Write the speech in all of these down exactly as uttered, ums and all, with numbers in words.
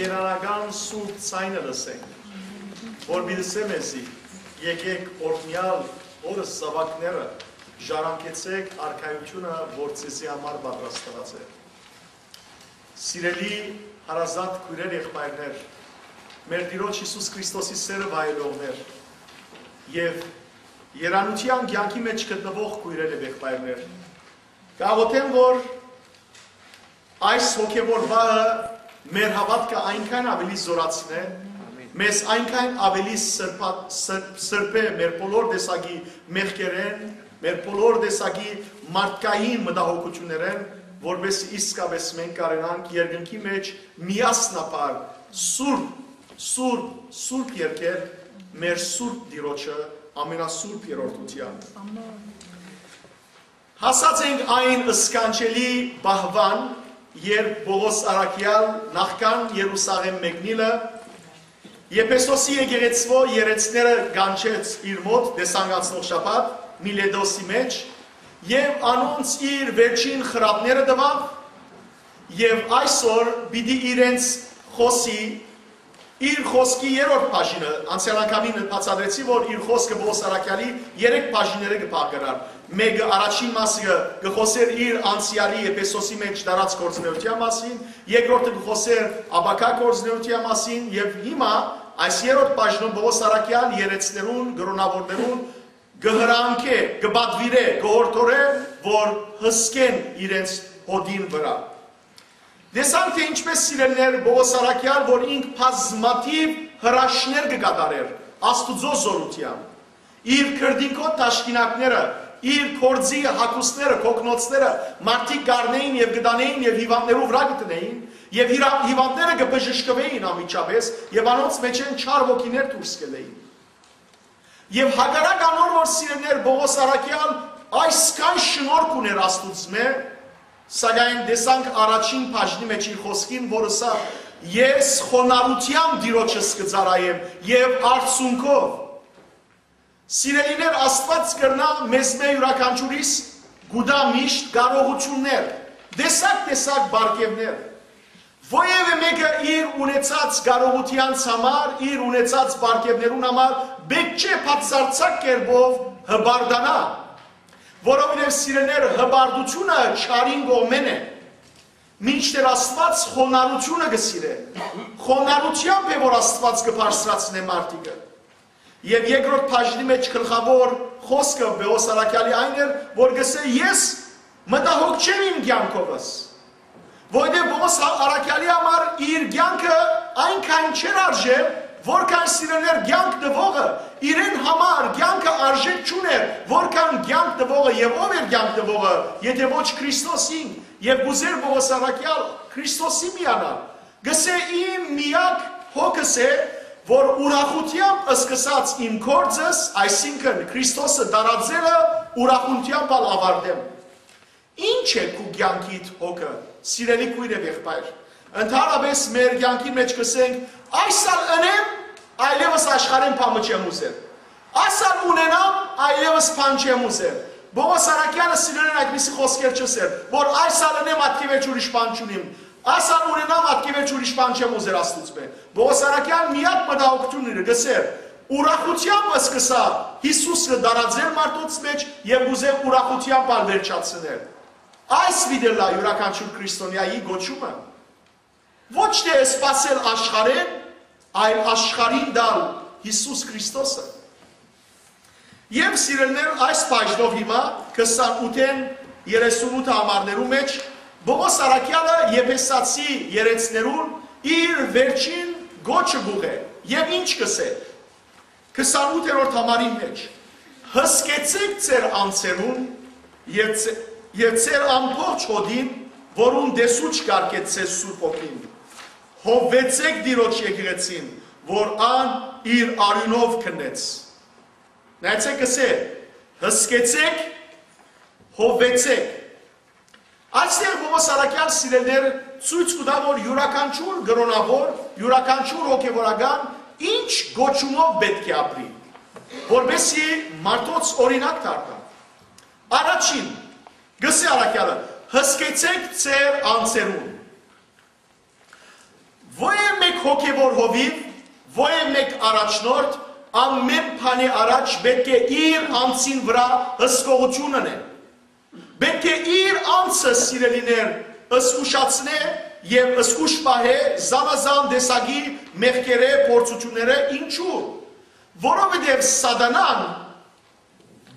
Երանական սուրբ ձայնը լսենք, որ պիտի ըսէ մեզի. «Եկէք օրհնեալ օրս, զաւակները, ժառանգեցէք արքայութիւնը, որ ձեզի համար պատրաստուած է»։ Սիրելի հարազատ քոյրեր, եղբայրներ, մեր Տիրոջ Յիսուս Քրիստոսի սէրը վայելողներ եւ երանութեան կեանքի մէջ գտնուող քոյրեր եւ եղբայրներ, կաղոթեմ, որ այս հոգեվոր վահը մեր հաւատքը այնքան աւելի զօրացնէ, մեզ այնքան աւելի սրբա-, սրբ-, սրբէ մեր բոլոր տեսակի մեղքերէն, մեր բոլոր տեսակի մարդկային մտահոգութիւններէն, որպէս իսկապէս մենք կարենանք երկնքի մէջ միասնաբար սուրբ, սուրբ, սուրբ երկել մեր սուրբ Տիրոջը ամենասուրբ երրորդութեան։ Ամեն։ Հասած ենք այն սքանչելի պահուան, երբ Պողոս առաքեալ նախքան Երուսաղէմ մեկնիլը, Եփեսոսի եկեղեցւոյ երեցները կանչեց իր մօտ, տեսանք անցնող շաբաթ, Միլետոսի մէջ, եւ անոնց իր վերջին խրատները տուաւ, եւ այսօր պիտի իրենց խօսի իր խօսքի երրորդ բաժինը, անցեալ անգամին բացատրեցի, որ իր խօսքը Պողոս առաքեալի երեք բաժինները կը բաղկարար։ Մէկը, առաջին մասը կը խօսէր իր անցեալի Եփեսոսի մէջ դարած գործունեութեան մասին, երկրորդը կը խօսէր ապագայ գործունեութեան մասին, եւ հիմա այս երրորդ բաժնով Պողոս առաքեալ երեցներուն, կրօնաւորներուն կը հրամքէ, կը պատուիրէ, կը յորդորէ, որ հսկեն իրենց հօտին վրայ։ Տեսանք, թէ ինչպէս, սիրելիներ, Պողոս առաքեալ, որ ինք բազմաթիւ հրաշքներ կը կատարէր Աստուծոյ զօրութեան, իր քրտինքոյ թաշկինակները, իր գործի հագուստները, կոկնոցները մարդիկ կ'առնէին եւ կը տանէին եւ հիւանդներու վրայ կը դնէին, եւ հիրա-, հիւանդները կը բժշկուէին անմիջապէս եւ անոնց մէջէն չար ոգիներ դուրս կ'ելլէին։ Եւ հակառակ անոր, որ, սիրելիներ, Պողոս առաքեալ այսքան շնորհք ունէր Աստուծմէ, սակայն տեսանք առաջին բաժնի մէջ իր խօսքին, որ ըսաւ. «Ես խոնարհութեամբ Տիրոջս կը ծառայեմ եւ արցունքով»։ Սիրելիներ, Աստուած կրնայ մեզմէ յուրաքանչիւրիս կու տայ միշտ կարողութիւններ, տեսակ-տեսակ պարգեւներ։ Որեւէ մէկը իր ունեցած կարողութեանց համար, իր ունեցած պարգեւներուն համար պէտք չէ բացարձակ կերպով հպարտանայ, որովհետեւ, սիրելիներ, հպարտությունը չարին կողմէն է, մինչդեռ Աստուած խոնարհութիւնը կը սիրէ։ Խոնարհութեամբ է, որ Աստուած կը բարձրացնէ մարդիկը։ Եւ երկրորդ բաժնի մէջ գլխաւոր խօսքը Պողոս առաքեալի այն էր, որ կ'ըսէ. «Ես մտահոգ չեմ իմ կեանքովս»։ Որովհետեւ Պողոս առաքեալի համար իր կեանքը այնքան չէր արժե, որքան, սիրելիներ, կեանք տուողը իրեն համար կեանքը արժէք չունէր, որքան կեանք տուողը, եւ ո՞վ էր կեանք տուողը, եթէ ոչ Քրիստոս ինք, եւ կ'ուզէր Պողոս առաքեալ Քրիստոսի միանալ։ Կ'ըսէ. «Իմ միակ հոգս է, որ ուրախութեամբ սկսած իմ գործս, այսինքն՝ Քրիստոսը տարածելը, ուրախութեամբ ալ աւարտեմ»։ Ի՞նչ է քու կեանքիդ հոգը, սիրելի քոյր եւ եղբայր։ Ընդհանրապէս մեր կեանքի մէջ կ'ըսենք. «Այս ալ ընեմ, այլեւս աշխարհէն բան մը չեմ ուզեր։ Այս ալ ունենամ, այլեւս բան չեմ ուզեր»։ Պողոս առաքեալը, սիրելիներ, այդպիսի խօսքեր չ'ըսէր, որ «Այս ալ ընեմ, ատկեւեր ուրիշ բան չունիմ, այս ալ ունենամ, ատկեւեր ուրիշ բան չեմ ուզեր Աստուծմէ»։ Պողոս առաքեալ միակ մտահոգութիւնն իր կ'ըսէր. «Ուրախութեամբ սկսայ Յիսուսը տարածել մարդոց մէջ եւ կ'ուզեմ ուրախութեամբ ալ վերջացնել»։ Այս պիտի ըլլայ յուրաքանչիւր քրիստոնեայի կոչումը։ Ոչ թէ սպասել աշխարհէն, այլ աշխարհին տալ Յիսուս Քրիստոսը։ Եւ, սիրելիներ, այս բաժնով հիմա քսանութ երեսունութ համարներու մէջ Պողոս առաքեալը Եփեսացի երեցներուն իր վերջին կոչը կ'ուղղէ։ Եւ ի՞նչ կ'ըսէ քսանութերորդ համարին մէջ. «Հսկեցէք ձեր անձերուն եւ ձե-, եւ ձեր ամբողջ հօտին, որուն տեսուչ կարգեց ձեզ Սուրբ Հոգին։ Հովվեցէք Տիրոջ եկեղեցին, որ ան իր արիւնով քննեց»։ Նայեցէք, կ'ըսէ. «Հսկեցէք, հովվեցէք»։ Այստեղ Պողոս առաքեալ, սիրելիներ, ցոյց կու տայ, որ յուրաքանչիւր կրօնաւոր, յուրաքանչիւր հոգեվորական ինչ կոչումով պէտք է ապրի, որպեսզի մարդոց օրինակ դառնայ։ Առաջին, կ'ըսէ առաքեալը. «Հսկեցէք ձեր անձերուն»։ Որեւէ մէկ հոգեւոր հովիւ, որեւէ մէկ առաջնորդ, ամէն բանի առաջ պէտք է իր անձին վրայ հսկողութիւն ընէ։ Պէտք է իր անձը, սիրելիներ, զգուշացնէ եւ զգուշ պահէ զանազան տեսակի մեղքերէ, փորձութիւններէ։ Ինչու՞։ Որովհետեւ Սատանան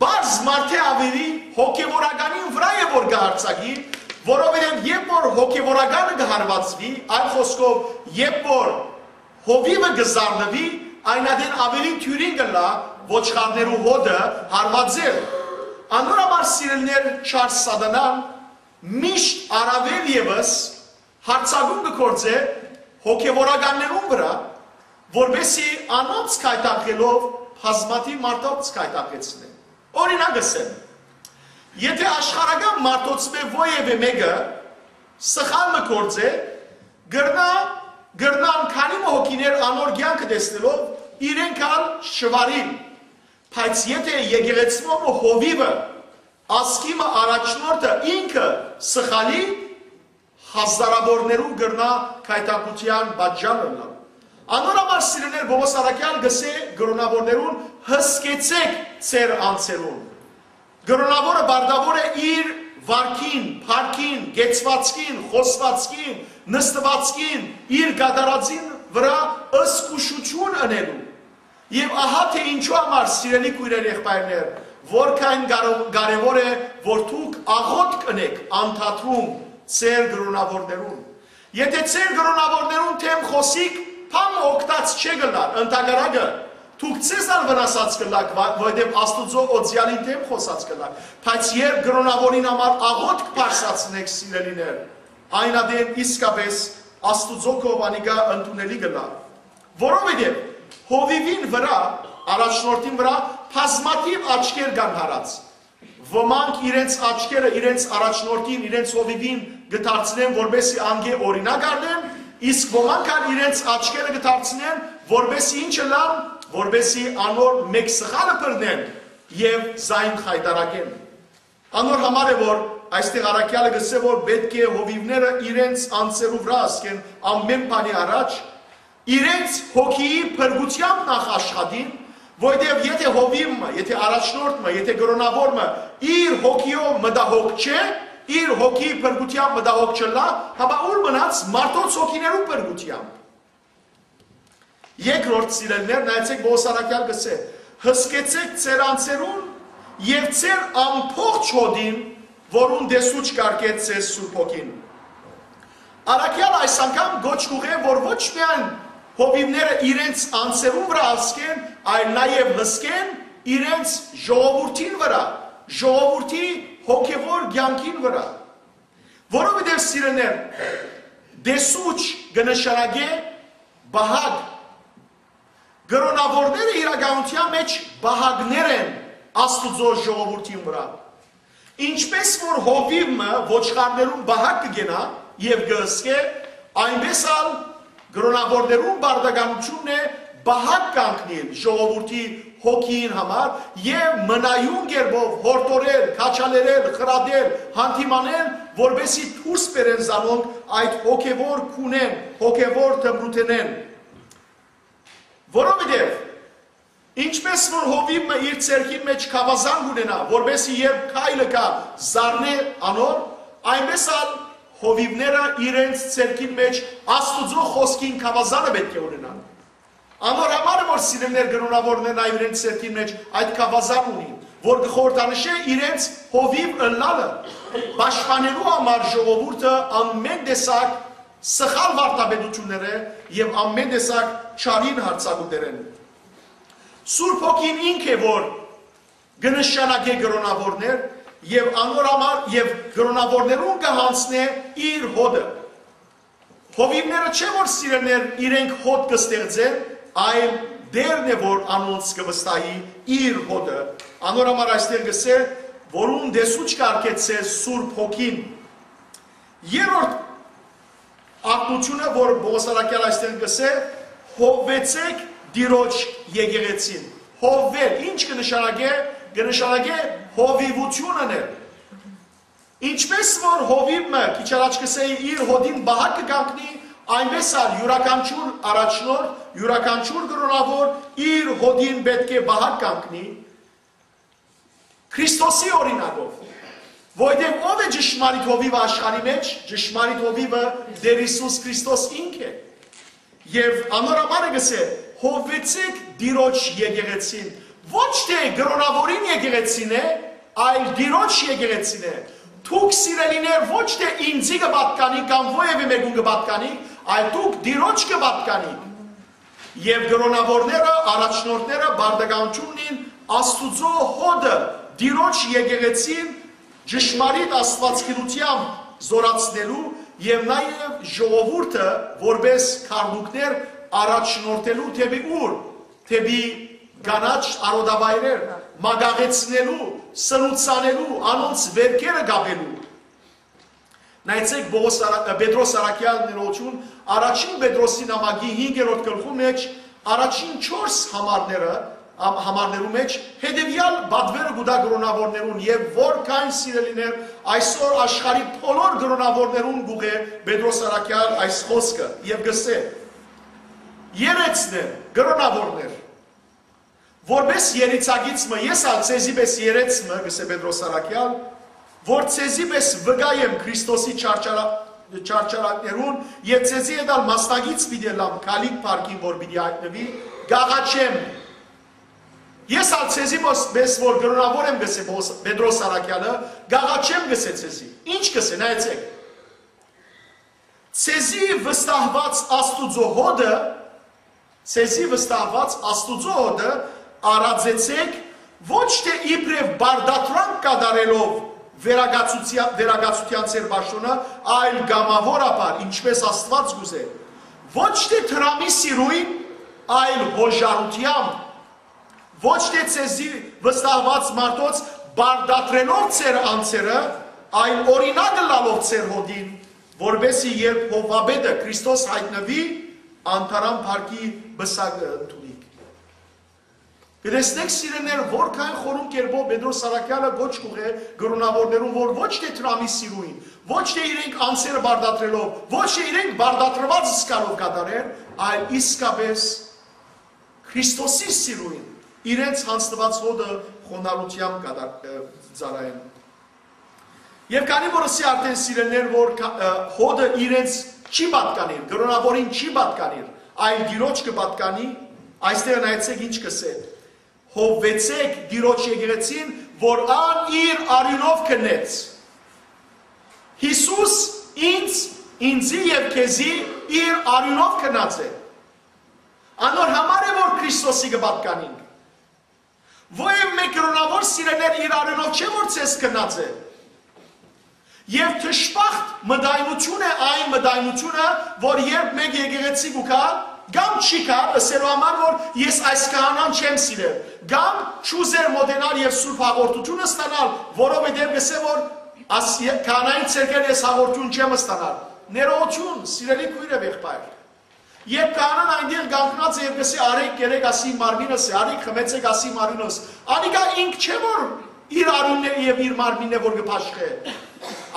պարզ մարդէ աւելի հոգեւորականին վրայ է որ կը յարձակի, որովհետեւ երբ որ հոգեւորականը կը հարուածուի, այլ խօսքով, երբ որ հովիւը կը զարնուի, այն ատեն աւելի դիւրին կ'ըլլայ ոչխարներու հոտը հարուածել։ Անոր համար, սիրելիներ, չար Սատանան միշտ առաւել եւս յարձակում կը գործէ հոգեվորականներուն վրայ, որպէսզի անոնց գայթակղելով բազմաթիւ մարդոց գայթակղեցնէ։ Օրինակ ըսեմ, եթէ աշխարհական մարդոցմէ որեւէ մէկը սխալ մը գործէ, կրնայ, կրնան քանի մը հոգիներ անոր կեանքը տեսնելով իրենք ալ շուարիլ, բայց եթէ եկեղեցւոյ մը հովիւը, ազգի մը առաջնորդը ինքը սխալի, հազարաւորներու կրնայ գայթակղութեան պատճառ ըլլալ։ Անոր համար, սիրելիներ, Պողոս առաքեալ կ'ըսէ կրօնաւորներուն. «Հսկեցէք ձեր անձերուն»։ Կրօնաւորը պարտաւոր է իր վարքին, փառքին, կեցուածքին, խօսուածքին, նստուածքին, իր կատարածին վրայ զգուշութիւն ընելու։ Եւ ահա թէ ինչու համար, սիրելի քոյրեր, եղբայրներ, որքան կարո-, կարեւոր է, որ դուք աղօթք ընէք անդադրում ձեր կրօնաւորներուն։ Եթէ ձեր կրօնաւորներուն դէմ խօսիք, բան մը օգտած չէ կ'ըլլար, ընդհակառակը, դուք ձեզ ալ վնասած կ'ըլլաք, վա-, որովհետեւ Աստուծոյ օծեալին դէմ խօսած կ'ըլլաք։ Բայց երբ կրօնաւորին համար աղօթք բարձրացնէք, սիրելիներ, այն ատեն իսկապէս Աստուծոյ կողմէ անիկա ընդունելի կ'ըլլայ։ Որովհետեւ հովիւին վրայ, առաջնորդին վրայ բազմաթիւ աչքեր կան յարած։ Ոմանք իրենց աչքերը իրենց առաջնորդին, իրենց հովիւին կը դարձնեն, որպէսզի անկէ օրինակ առնեն, իսկ ոմանք ալ իրենց աչքերը կը դարձնեն, որպէսզի ինչ ըլլան, որպէսզի անոր մէկ սխալը բռնեն եւ զայն խայտարակեն։ Անոր համար է, որ այստեղ առաքեալը կ'ըսէ, որ պէտք է հովիւները իրենց անձերու վրայ հսկեն ամէն բանի առաջ, իրենց հոգիի փրկութեամբ նախ աշխատին, որովհետեւ եթէ հովիւ մը, եթէ առաջնորդ մը, եթէ կրօնաւոր մը իր հոգիով մտահոգ չէ, իր հոգիի փրկութեամբ մտահոգ չըլլայ, հապա ո՞ւր մնաց մարդոց հոգիներու փրկութեամբ։ Երկրորդ, սիրելիներ, նայեցէք, Պողոս առաքեալ կ'ըսէ. «Հսկեցէք ձեր անձերուն եւ ձեր ամբողջ հօտին, որուն տեսուչ կ'արգէ ձեզ Սուրբ Հոգին»։ Առաքեալ այս անգամ կոչ կ'ուղղէ, որ ոչ միայն հովիւները իրենց անձերուն վրայ հսկեն, այլ նաեւ հսկեն իրենց ժողովուրդին վրայ, ժողովուրդի հոգեվոր կեանքին վրայ։ Որովհետեւ, սիրելիներ, տեսուչ կը նշանակէ պահակ։ Կրօնաւորները իրականութեան մէջ պահակներ են Աստուծոյ ժողովուրդին վրայ։ Ինչպէս որ հովիւ մը ոչխարներուն պահակ կը կենայ եւ կը հսկէ, այնպէս ալ կրօնաւորներուն պարտականութիւնն է պահակ կանգնիլ ժողովուրդի հոգիին համար եւ մնայուն կերպով յորդորել, քաջալերել, խրատել, հանդիմանել, որպէսզի դուրս բերեն զանոնք այդ հոգեվոր քունէն, հոգեվոր դպրութենէն։ Որովհետեւ ինչպէս որ հովիւ մը իր ձեռքին մէջ գաւազան կ'ունենայ, որպէսզի երբ քայլը գայ, զարնէ անոր, այնպէս ալ հովիւները իրենց ձեռքին մէջ Աստուծոյ խօսքին գաւազանը պէտք է ունենան։ Անոր համար է, որ սիրելիներ, կրօնաւորներն այ իրենց ձեռքին մէջ այդ գաւազան ունին, որ կը խորհրդանշէ իրենց հովիւ ըլլալը, պաշտպանելու համար ժողովուրդը ամէն տեսակ սխալ վարդապետութիւններէ եւ ամէն տեսակ չարին յարձակումներէն։ Սուրբ Հոգին ինք է, որ կը նշանակէ կրօնաւորներ եւ անոր համար եւ կրօնաւորներուն կը յանձնէ իր հօտը։ Հովիւները չէ՞ որ, սիրելիներ, իրենք հօտ կը ստեղծեն, այլ Տէրն է, որ անոնց կը վստահի իր հօտը։ Անոր համար այստեղ կ'ըսէ, որուն տեսուչ կ'արգէ ձեզ Սուրբ Հոգին։ Երրորդ ակնությունը, որ Պողոս առաքեալ այստեղ կ'ըսէ, հովվեցեք Տիրոջ եկեղեցին։ Հովվել, ինչ կը նշանակէ, կը նշանակէ հովիվութիւն ընել։ Ինչպէս որ հովիւ մը, քիչ առաջ կ'ըսէի, իր հօտին պահակ կը կանգնի, Այնպէս ալ յուրաքանչիւր առաջնորդ, յուրաքանչիւր կրօնաւոր իր հօդին պէտք է պահակ կանգնի Քրիստոսի օրինակով, որովհետեւ ո՞վ է ճշմարիտ հովիւը աշխարհի մէջ, ճշմարիտ հովիւը Տէր Յիսուս Քրիստոս ինք է։ Եւ անոր համար է գսե. «Հովեցեք Տիրոջ եկեղեցին»։ Ոչ թէ կրօնաւորին եկեղեցին է, այլ Տիրոջ եկեղեցին է։ Դուք, սիրելիներ, ոչ թէ ինծի կը պատկանիք կամ որեւէ մեկուն կը պատկանիք, այլ դուք Տիրոջ կը պատկանիք։ Եւ կրօնաւորները, առաջնորդները պարտականութիւն ունին Աստուծոյ հօդը, Տիրոջ եկեղեցին ճշմարիտ աստուածագիտութեամբ զօրացնելու եւ նաեւ ժողովուրդը որպէս քառնուկներ առաջնորդելու դէպի ուր, դէպի կանաչ արոտավայրեր, մագաղեցնելու, սնուցանելու, անոնց վերքերը կապելու։ Նայեցէք Պողոս Արա-, Պետրոս Առաքեալ ներողություն, առաջին Պետրոսի նամակի հինգերորդ գլխու մեջ, առաջին չորս համարները, ամ-, համարներու մեջ հետեւեալ պատվերը կու տայ կրօնաւորներուն եւ որքան, սիրելիներ, այսօր աշխարհի բոլոր կրօնաւորներուն կուղղէ Պետրոս Առաքեալ այս խօսքը եւ գսէ. «Երեցներ, կրօնաւորներ, որպէս երիցագիծ մը, ես ալ ձեզի պէս երեց մը, գսէ Պետրոս Առաքեալ, որ ձեզի պէս վկայ եմ Քրիստոսի չարչարա-, չարչարանքներուն եւ ձեզի հետ ալ մասնակից պիտի ըլլամ գալիք փառքին, որ պիտի յայտնուի, կ'աղաչեմ։ Ես ալ ձեզի պէս, պէս որ կրօնաւոր եմ, գսէ Պողոս-, Պետրոս Առաքեալը, կ'աղաչեմ, գսէ ձեզի»։ Ինչ գսէ, նայեցէք. «Ձեզի վստահուած Աստուծոյ հօդը, ձեզի վստահուած Աստուծոյ հօդը արածեցէք, ոչ թէ իբրեւ պարտադրանք կատարելով վերակացուցիա-, վերակացութեան ձեր պաշտօնը, այլ կամաւորաբար, ինչպէս Աստուած կ'ուզէ, ոչ թէ դրամի սիրոյն, այլ յօժարութեամբ, ոչ թէ ձեզի վստահուած մարդոց պարտադրելով ձեր անձերը, այլ օրինակ ըլլալով ձեր հօդին, որպէսզի երբ հովուապետը Քրիստոս յայտնուի, անդարան փառքի պսակը ընդունիք»։ Կը տեսնենք, սիրելիներ, որքան խորուն կերպով Պետրոս Առաքեալը կոչ կ'ուղղէ կրօնաւորներուն, որ ոչ թէ դրամի սիրոյն, ոչ թէ իրենք անձերը պարտադրելով, ոչ թէ իրենք պարտադրուած զգալով կատարեն, այլ իսկապէս Քրիստոսի սիրոյն իրենց յանձնուած հօդը խոնարհութեամբ կատա-, ը, ծառայեն։ Եւ քանի որ ըսի արդէն, սիրելիներ, որ կա-, ը, հօդը իրենց չի պատկանիր, կրօնաւորին չի պատկանիր, այլ Տիրոջ կը պատկանի, այստեղ նայեցէք ինչ կ'ըսէ. «Հովեցեք Տիրոջ եկեղեցին, որ ան իր արիւնով քննեց»։ Յիսուս ինձ, ինձի եւ քեզի իր արիւնով քննած է։ Անոր համար է, որ Քրիստոսի կը պատկանինք։ Որեւէ մէկ կրօնաւոր, սիրելիներ, իր արիւնով չէ, որ ձեզ քննած է։ Եւ դժբախտ մտայնութիւն է այն մտայնութիւնը, որ երբ մէկ եկեղեցի կու գայ, կամ չի գայ, ըսելու համար, որ ես այս քահանան չեմ սիրեր, կամ չուզեր մօտենալ եւ սուրբ հաղորդութիւնը ստանալ, որովհետեւ կ'ըսէ, որ աս-, ե-, քահանային ձեռքէն ես հաղորդութիւն չեմ ստանալ։ Ներողութիւն, սիրելի քոյր եւ եղբայր։ Երբ քահանան այնտեղ կանգնած է եւ կ'ըսի. «Առէք, կերէք, ասի, իմ մարմինս է, առէք, խմեցէք, ասի, իմ արիւնս», անիկա ինք չէ, որ իր արիւնն է եւ իր մարմինն է, որ կը բաշխէ,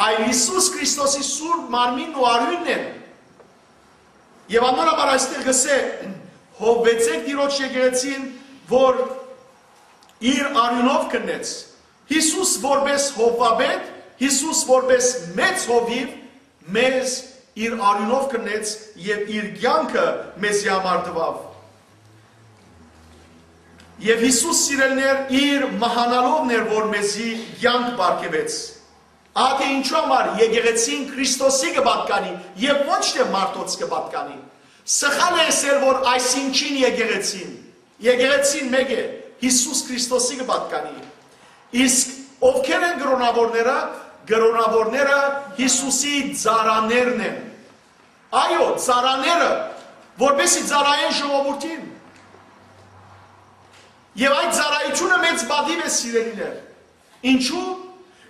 այլ Յիսուս Քրիստոսի սուրբ մարմինն ու արիւնն է։ Եւ անոր համար այստեղ կ'ըսէ. «Հովեցեք Տիրոջ եկեղեցին, որ իր արիւնով քննեց»։ Յիսուս որպէս հովուապետ, Յիսուս որպէս մեծ հովիւ, մեզ իր արիւնով քննեց եւ իր կեանքը մեզի համար տուաւ։ Եւ Յիսուս, սիրելիներ, իր մահանալովն էր, որ մեզի կեանք պարգեւեց։ Ահա թե ինչու համար եկեղեցին Քրիստոսի կը պատկանի եւ ոչ թէ մարդոց կը պատկանի։ Սխալ է ըսել, որ այսինչին եկեղեցին։ Եկեղեցին մէկ է, Յիսուս Քրիստոսի կը պատկանի։ Իսկ ովքեր են կրօնաւորները, կրօնաւորները Յիսուսի ծառաներն են։ Այո, ծառաները, որպեսզի ծառայեն ժողովուրդին։ Եւ այդ ծառայությունը մեծ պատիւ է, սիրելիներ։ Ինչու՞։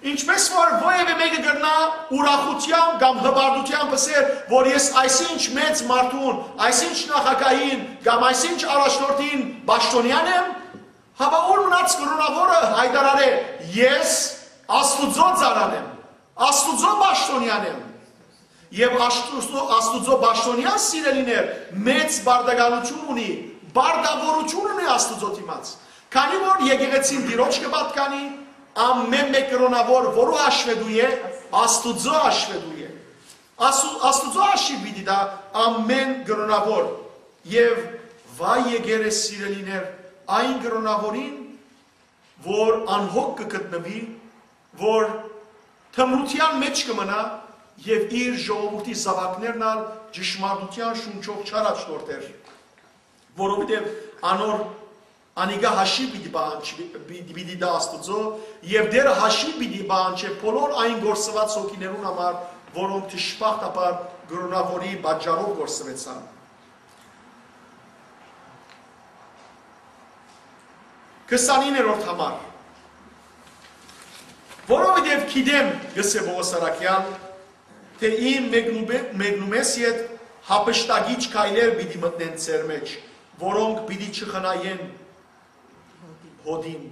Ինչպես որ որևէ մեկը կրնայ ուրախութեամբ կամ հպարտութեամբ ըսել, որ ես այսինչ մեծ մարդուն, այսինչ նախագահին կամ այսինչ առաջնորդին պաշտոնեան եմ, հապա ուր մնաց կրօնաւորը հայտարարէ. «Ես Աստուծոյ ծառան եմ, Աստուծոյ պաշտոնեան եմ»։ Եւ Աստուծոյ, Աստուծոյ պաշտօնեան, սիրելիներ, մեծ պարտականութիւն ունի, պարտաւորութիւն ունի Աստուծոյ դիմաց։ Քանի որ եկեղեցին Տիրոջ կը պատկանի, ամէն մէկ կրօնաւոր որու հաշուետու է, Աստուծոյ հաշուետու է։ Աստու-, Աստուծոյ հաշիւ պիտի տայ ամէն կրօնաւոր, եւ վայ եկեր է, սիրելիներ, այն կրօնաւորին, որ անհոգ կը գտնուի, որ թմրութեան մէջ կը մնայ եւ իր ժողովուրդի զաւակներն ալ ճշմարտութեան շունչով չառաջնորդեր, որովհետեւ անոր անիկա հաշիւ պիտի պահանջ-, պիտի, պիտի տայ Աստուծոյ, եւ Տէրը հաշիւ պիտի պահանջէ բոլոր այն կորսուած հոգիներուն համար, որոնք դժբախտաբար կրօնաւորի պատճառով կորսուեցան։ Քսանիններորդ համար։ Որովհետեւ գիտեմ, կ'ըսէ Պողոս առաքեալ, թէ իմ մեկնուբե-, մեկնումէս յետ յափշտակիչ քայլեր պիտի մտնեն ձեր մէջ, որոնք պիտի չխնայեն հօտին։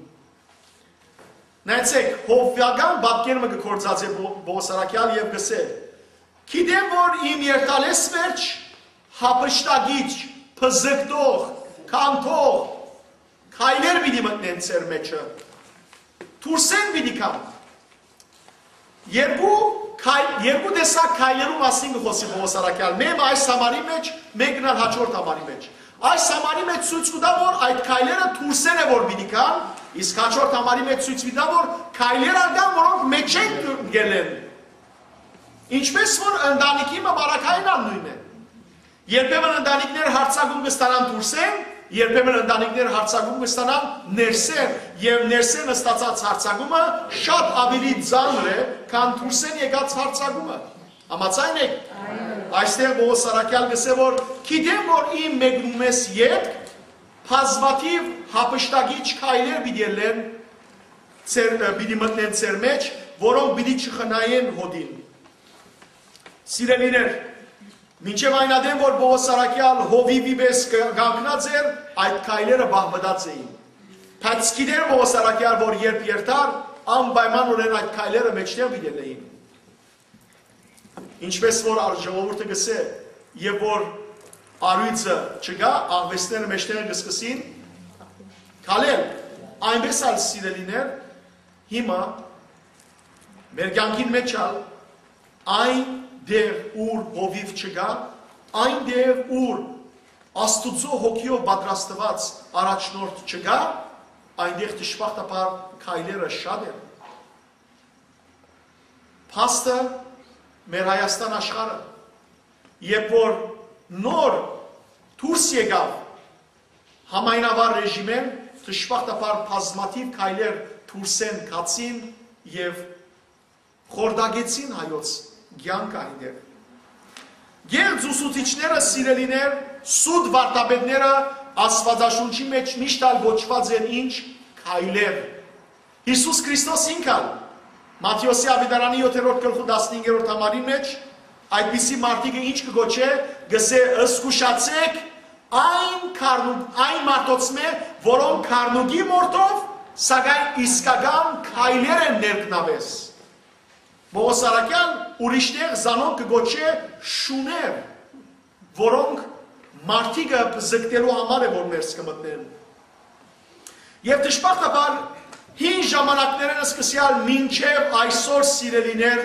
Նայեցէք, հովուական պատկեր մը կը գործածէ Պո-, Պողոս առաքեալ եւ կ'ըսէ. «Գիտեմ, որ իմ երթալէս վերջ յափշտակիչ, բզկտող, քանդող քայլեր պիտի մտնեն ձեր մէջը, դուրսէն պիտի գան»։ Երկու քայլ-, երկու տեսակ քայլերու մասին կը խօսի Պողոս առաքեալ, մէկը այս համարի մէջ, մէկն ալ հաջորդ համարի մէջ։ Այս համարի մէջ ցոյց կու տայ, որ այդ քայլերը դուրսէն է որ պիտի գան, իսկ հաջորդ համարի մէջ ցոյց կու տայ, որ քայլեր ալ կան, որոնք մէջէն կ'ելլեն։ Ինչպէս որ ընտանիքի մը պարագային ալ նոյնն է։ Երբեմն ընտանիքներ յարձակում կը ստանան դուրսէն, երբեմն ընտանիքներ յարձակում կը ստանան ներսէն, եւ ներսէն ստացած յարձակումը շատ աւելի ծանր է, քան դուրսէն եկած յարձակումը։ Համաձայն եք։ Այստեղ Պողոս առաքեալ կ'ըսէ, որ գիտեմ, որ իմ մեկնումէս ետք բազմաթիւ յափշտակիչ քայլեր պիտի ելլեն, ձեր, պիտի մտնեն ձեր մէջ, որոնք պիտի չխնայեն հօտին։ Սիրելիներ, մինչեւ այն ատեն, որ Պողոս առաքեալ հովիվի պէս կ-, կանգնած էր, այդ քայլերը պահպանած էին։ Բայց գիտեր Պողոս առաքեալ, որ երբ երթար, անպայմանօրէն այդ քայլերը մէջտեղ պիտի ելլէին։ Ինչպէս որ ալ ժողովուրդը կ'ըսէ, եւ որ առոյծը չկայ, աղուէսները մէջտեղը կը սկսին քալել։ Այնպէս ալ, սիրելիներ, հիմա մեր կեանքին մէջ ալ այն տեղ, ուր հովիվ չկայ, այն տեղ, ուր Աստուծոյ հոգիով պատրաստուած առաջնորդ չկայ, այնտեղ դժբախտաբար քայլերը շատ են։ Փաստը մեր Հայաստան աշխարհը, երբ որ նոր դուրս եկաւ համայնավար ռեժիմէն, դժբախտաբար բազմաթիւ քայլեր դուրսէն գացին եւ խորտակեցին հայոց կեանքը այնտեղ։ Կեղծ ուսուցիչները, սիրելիներ, սուտ վարդապետները Աստուածաշունչի մէջ միշտ ալ կոչուած են ինչ, քայլեր։ Յիսուս Քրիստոս ինք ալ Մատթէոսի աւետարանի յոթերորդ գլխու տասնհինգերորդ համարին մէջ այդպիսի մարդիկը ինչ կը գոչէ, կ'ըսէ. «Զգուշացէք այն քարնուկ, այն մարդոցմէ, որոնք քարնուկի մորթով, սակայն իսկական քայլեր են ներքնավէս»։ Պողոս առաքեալ ուրիշ տեղ զանոնք կը գոչէ շուներ, որոնք մարդիկը բզկտելու համար է, որ ներս կը մտնեն։ Եւ դժբախտաբար հին ժամանակներէն սկսեալ մինչեւ այսօր, սիրելիներ,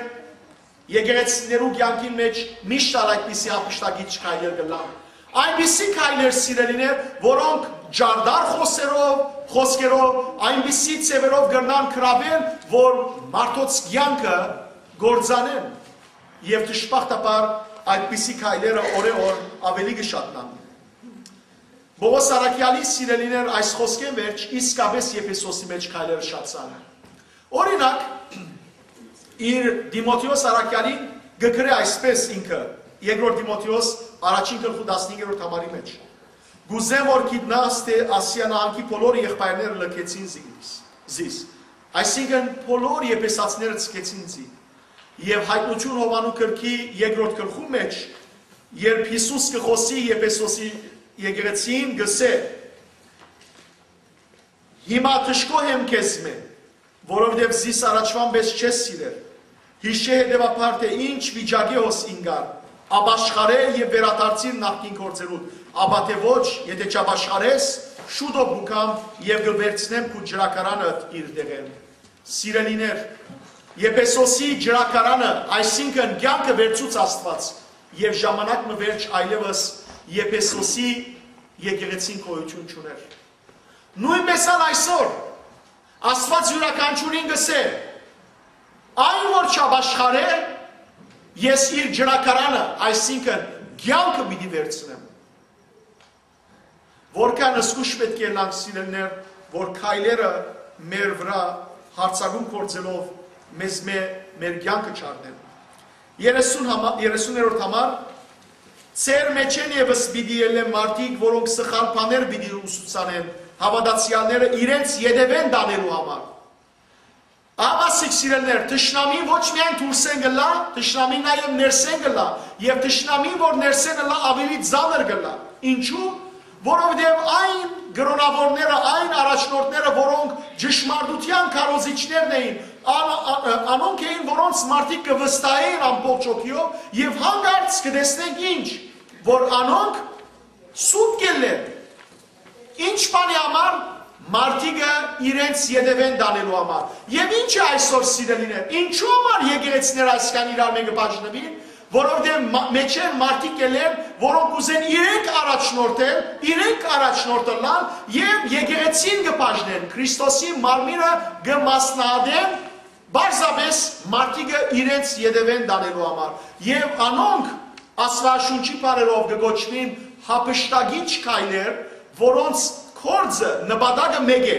եկեղեցիներու կեանքին մէջ միշտ ալ այդպիսի յափշտակիչ քայլեր կ'ըլլան։ Այնպիսի քայլեր, սիրելիներ, որոնք ջարդար խոսերով, խոսքերով, այնպիսի ձեւերով կրնան գրավել, որ մարդոց կեանքը կործանեն, եւ դժբախտաբար այդպիսի քայլերը օրէ օր աւելի կը շատնան։ Պողոս առաքեալի, սիրելիներ, այս խոսքէն վերջ իսկապէս Եփեսոսի մէջ քայլերը շատցան։ Օրինակ, իր Տիմոթէոս առաքեալին կը գրէ այսպէս ինքը, երկրորդ Տիմոթէոս առաջին գլխու տասնհինգերորդ համարի մէջ. «Կ'ուզեմ որ գիտնաս թէ Ասիա նահանգի բոլոր եղբայրները լքեցին զիս, զիս»։ Այսինքն, բոլոր եփեսացիները ցկեցին զի։ Եւ Յայտնութիւն Յովհաննու գրքի երկրորդ գլխու մէջ, երբ Յիսուս կը խօսի Եփեսոսի եկեղեցին, կ'ըսէ. «Հիմա դժգոհ եմ քեզմէ, որովհետեւ զիս առաջուան պէս չես սիրեր»։ Յիշէ հետեւաբար թէ ինչ վիճակի հոս ինկար, ապաշխարէ եւ վերադարձիր նախկին գործերուդ, ապա թէ ոչ, եթէ չապաշխարես, շուտով կու գամ եւ կը վերցնեմ քու ճրագարանդ իր տեղէն։ Սիրելիներ, Եփեսոսի ճրագարանը, այսինքն կեանքը վերցուց Աստուած, եւ ժամանակ մը վերջ այլեւս Եփեսոսի եկեղեցին գոյութիւն չունէր։ Նոյնպէս ալ այսօր Աստուած իւրաքանչիւրին կ'ըսէ. այն որ չապաշխարէ, ես իր ճրագարանը, այսինքն կեանքը պիտի վերցնեմ։ Որքան զգոյշ պէտք է ըլլանք, սիրելիներ, որ քայլերը մեր վրայ յարձակում գործելով մեզմէ մեր կեանքը չառնեն։ Երեսուն համա-, երեսուներորդ համար. «Ձեր մէջէն եւս պիտի ելլեն մարդիկ, որոնք սխալ բաներ պիտի ուսուցանեն, հաւատացեալները իրենց ետեւէն տանելու համար»։ Ահա, սիրելիներ, թշնամին ոչ միայն դուրսէն կ'ըլլայ, թշնամին նաեւ ներսէն կ'ըլլայ, եւ թշնամին որ ներսէն ըլլայ, աւելի ծանր կ'ըլլայ։ Ինչու՞։ Որովհետեւ այն կրօնաւորները, այն առաջնորդները, որոնք ճշմարտութեան քարոզիչներն էին, ան-, ա-, ա-, անոնք էին, որոնց մարդիկ կը վստահէին ամբողջ հոգիով, եւ հանկարծ կը տեսնենք ինչ, որ անոնք սուտ կ'ելլեն։ Ինչ բանի համար? Մարդիկը իրենց ետեւէն տանելու համար։ Եւ ինչ է այսօր, սիրելիներ, ինչու համար եկեղեցիները այսքան իրար մէկը բաժնուին, որովհետեւ մա-, մէջէն մարդիկ կ'ելլեն, որոնք կ'ուզեն իրենք առաջնորդել, իրենք առաջնորդ ըլլան եւ եկեղեցին կը բաժնեն, Քրիստոսի մարմինը կը մասնահատեն, պարզապէս մարդիկը իրենց ետեւէն տանելու համար։ Եւ անոնք Աստուաշունչի բառերով կը կոչուին հափշտակիչ քայլեր, որոնց գործը, նպատակը մէկ է՝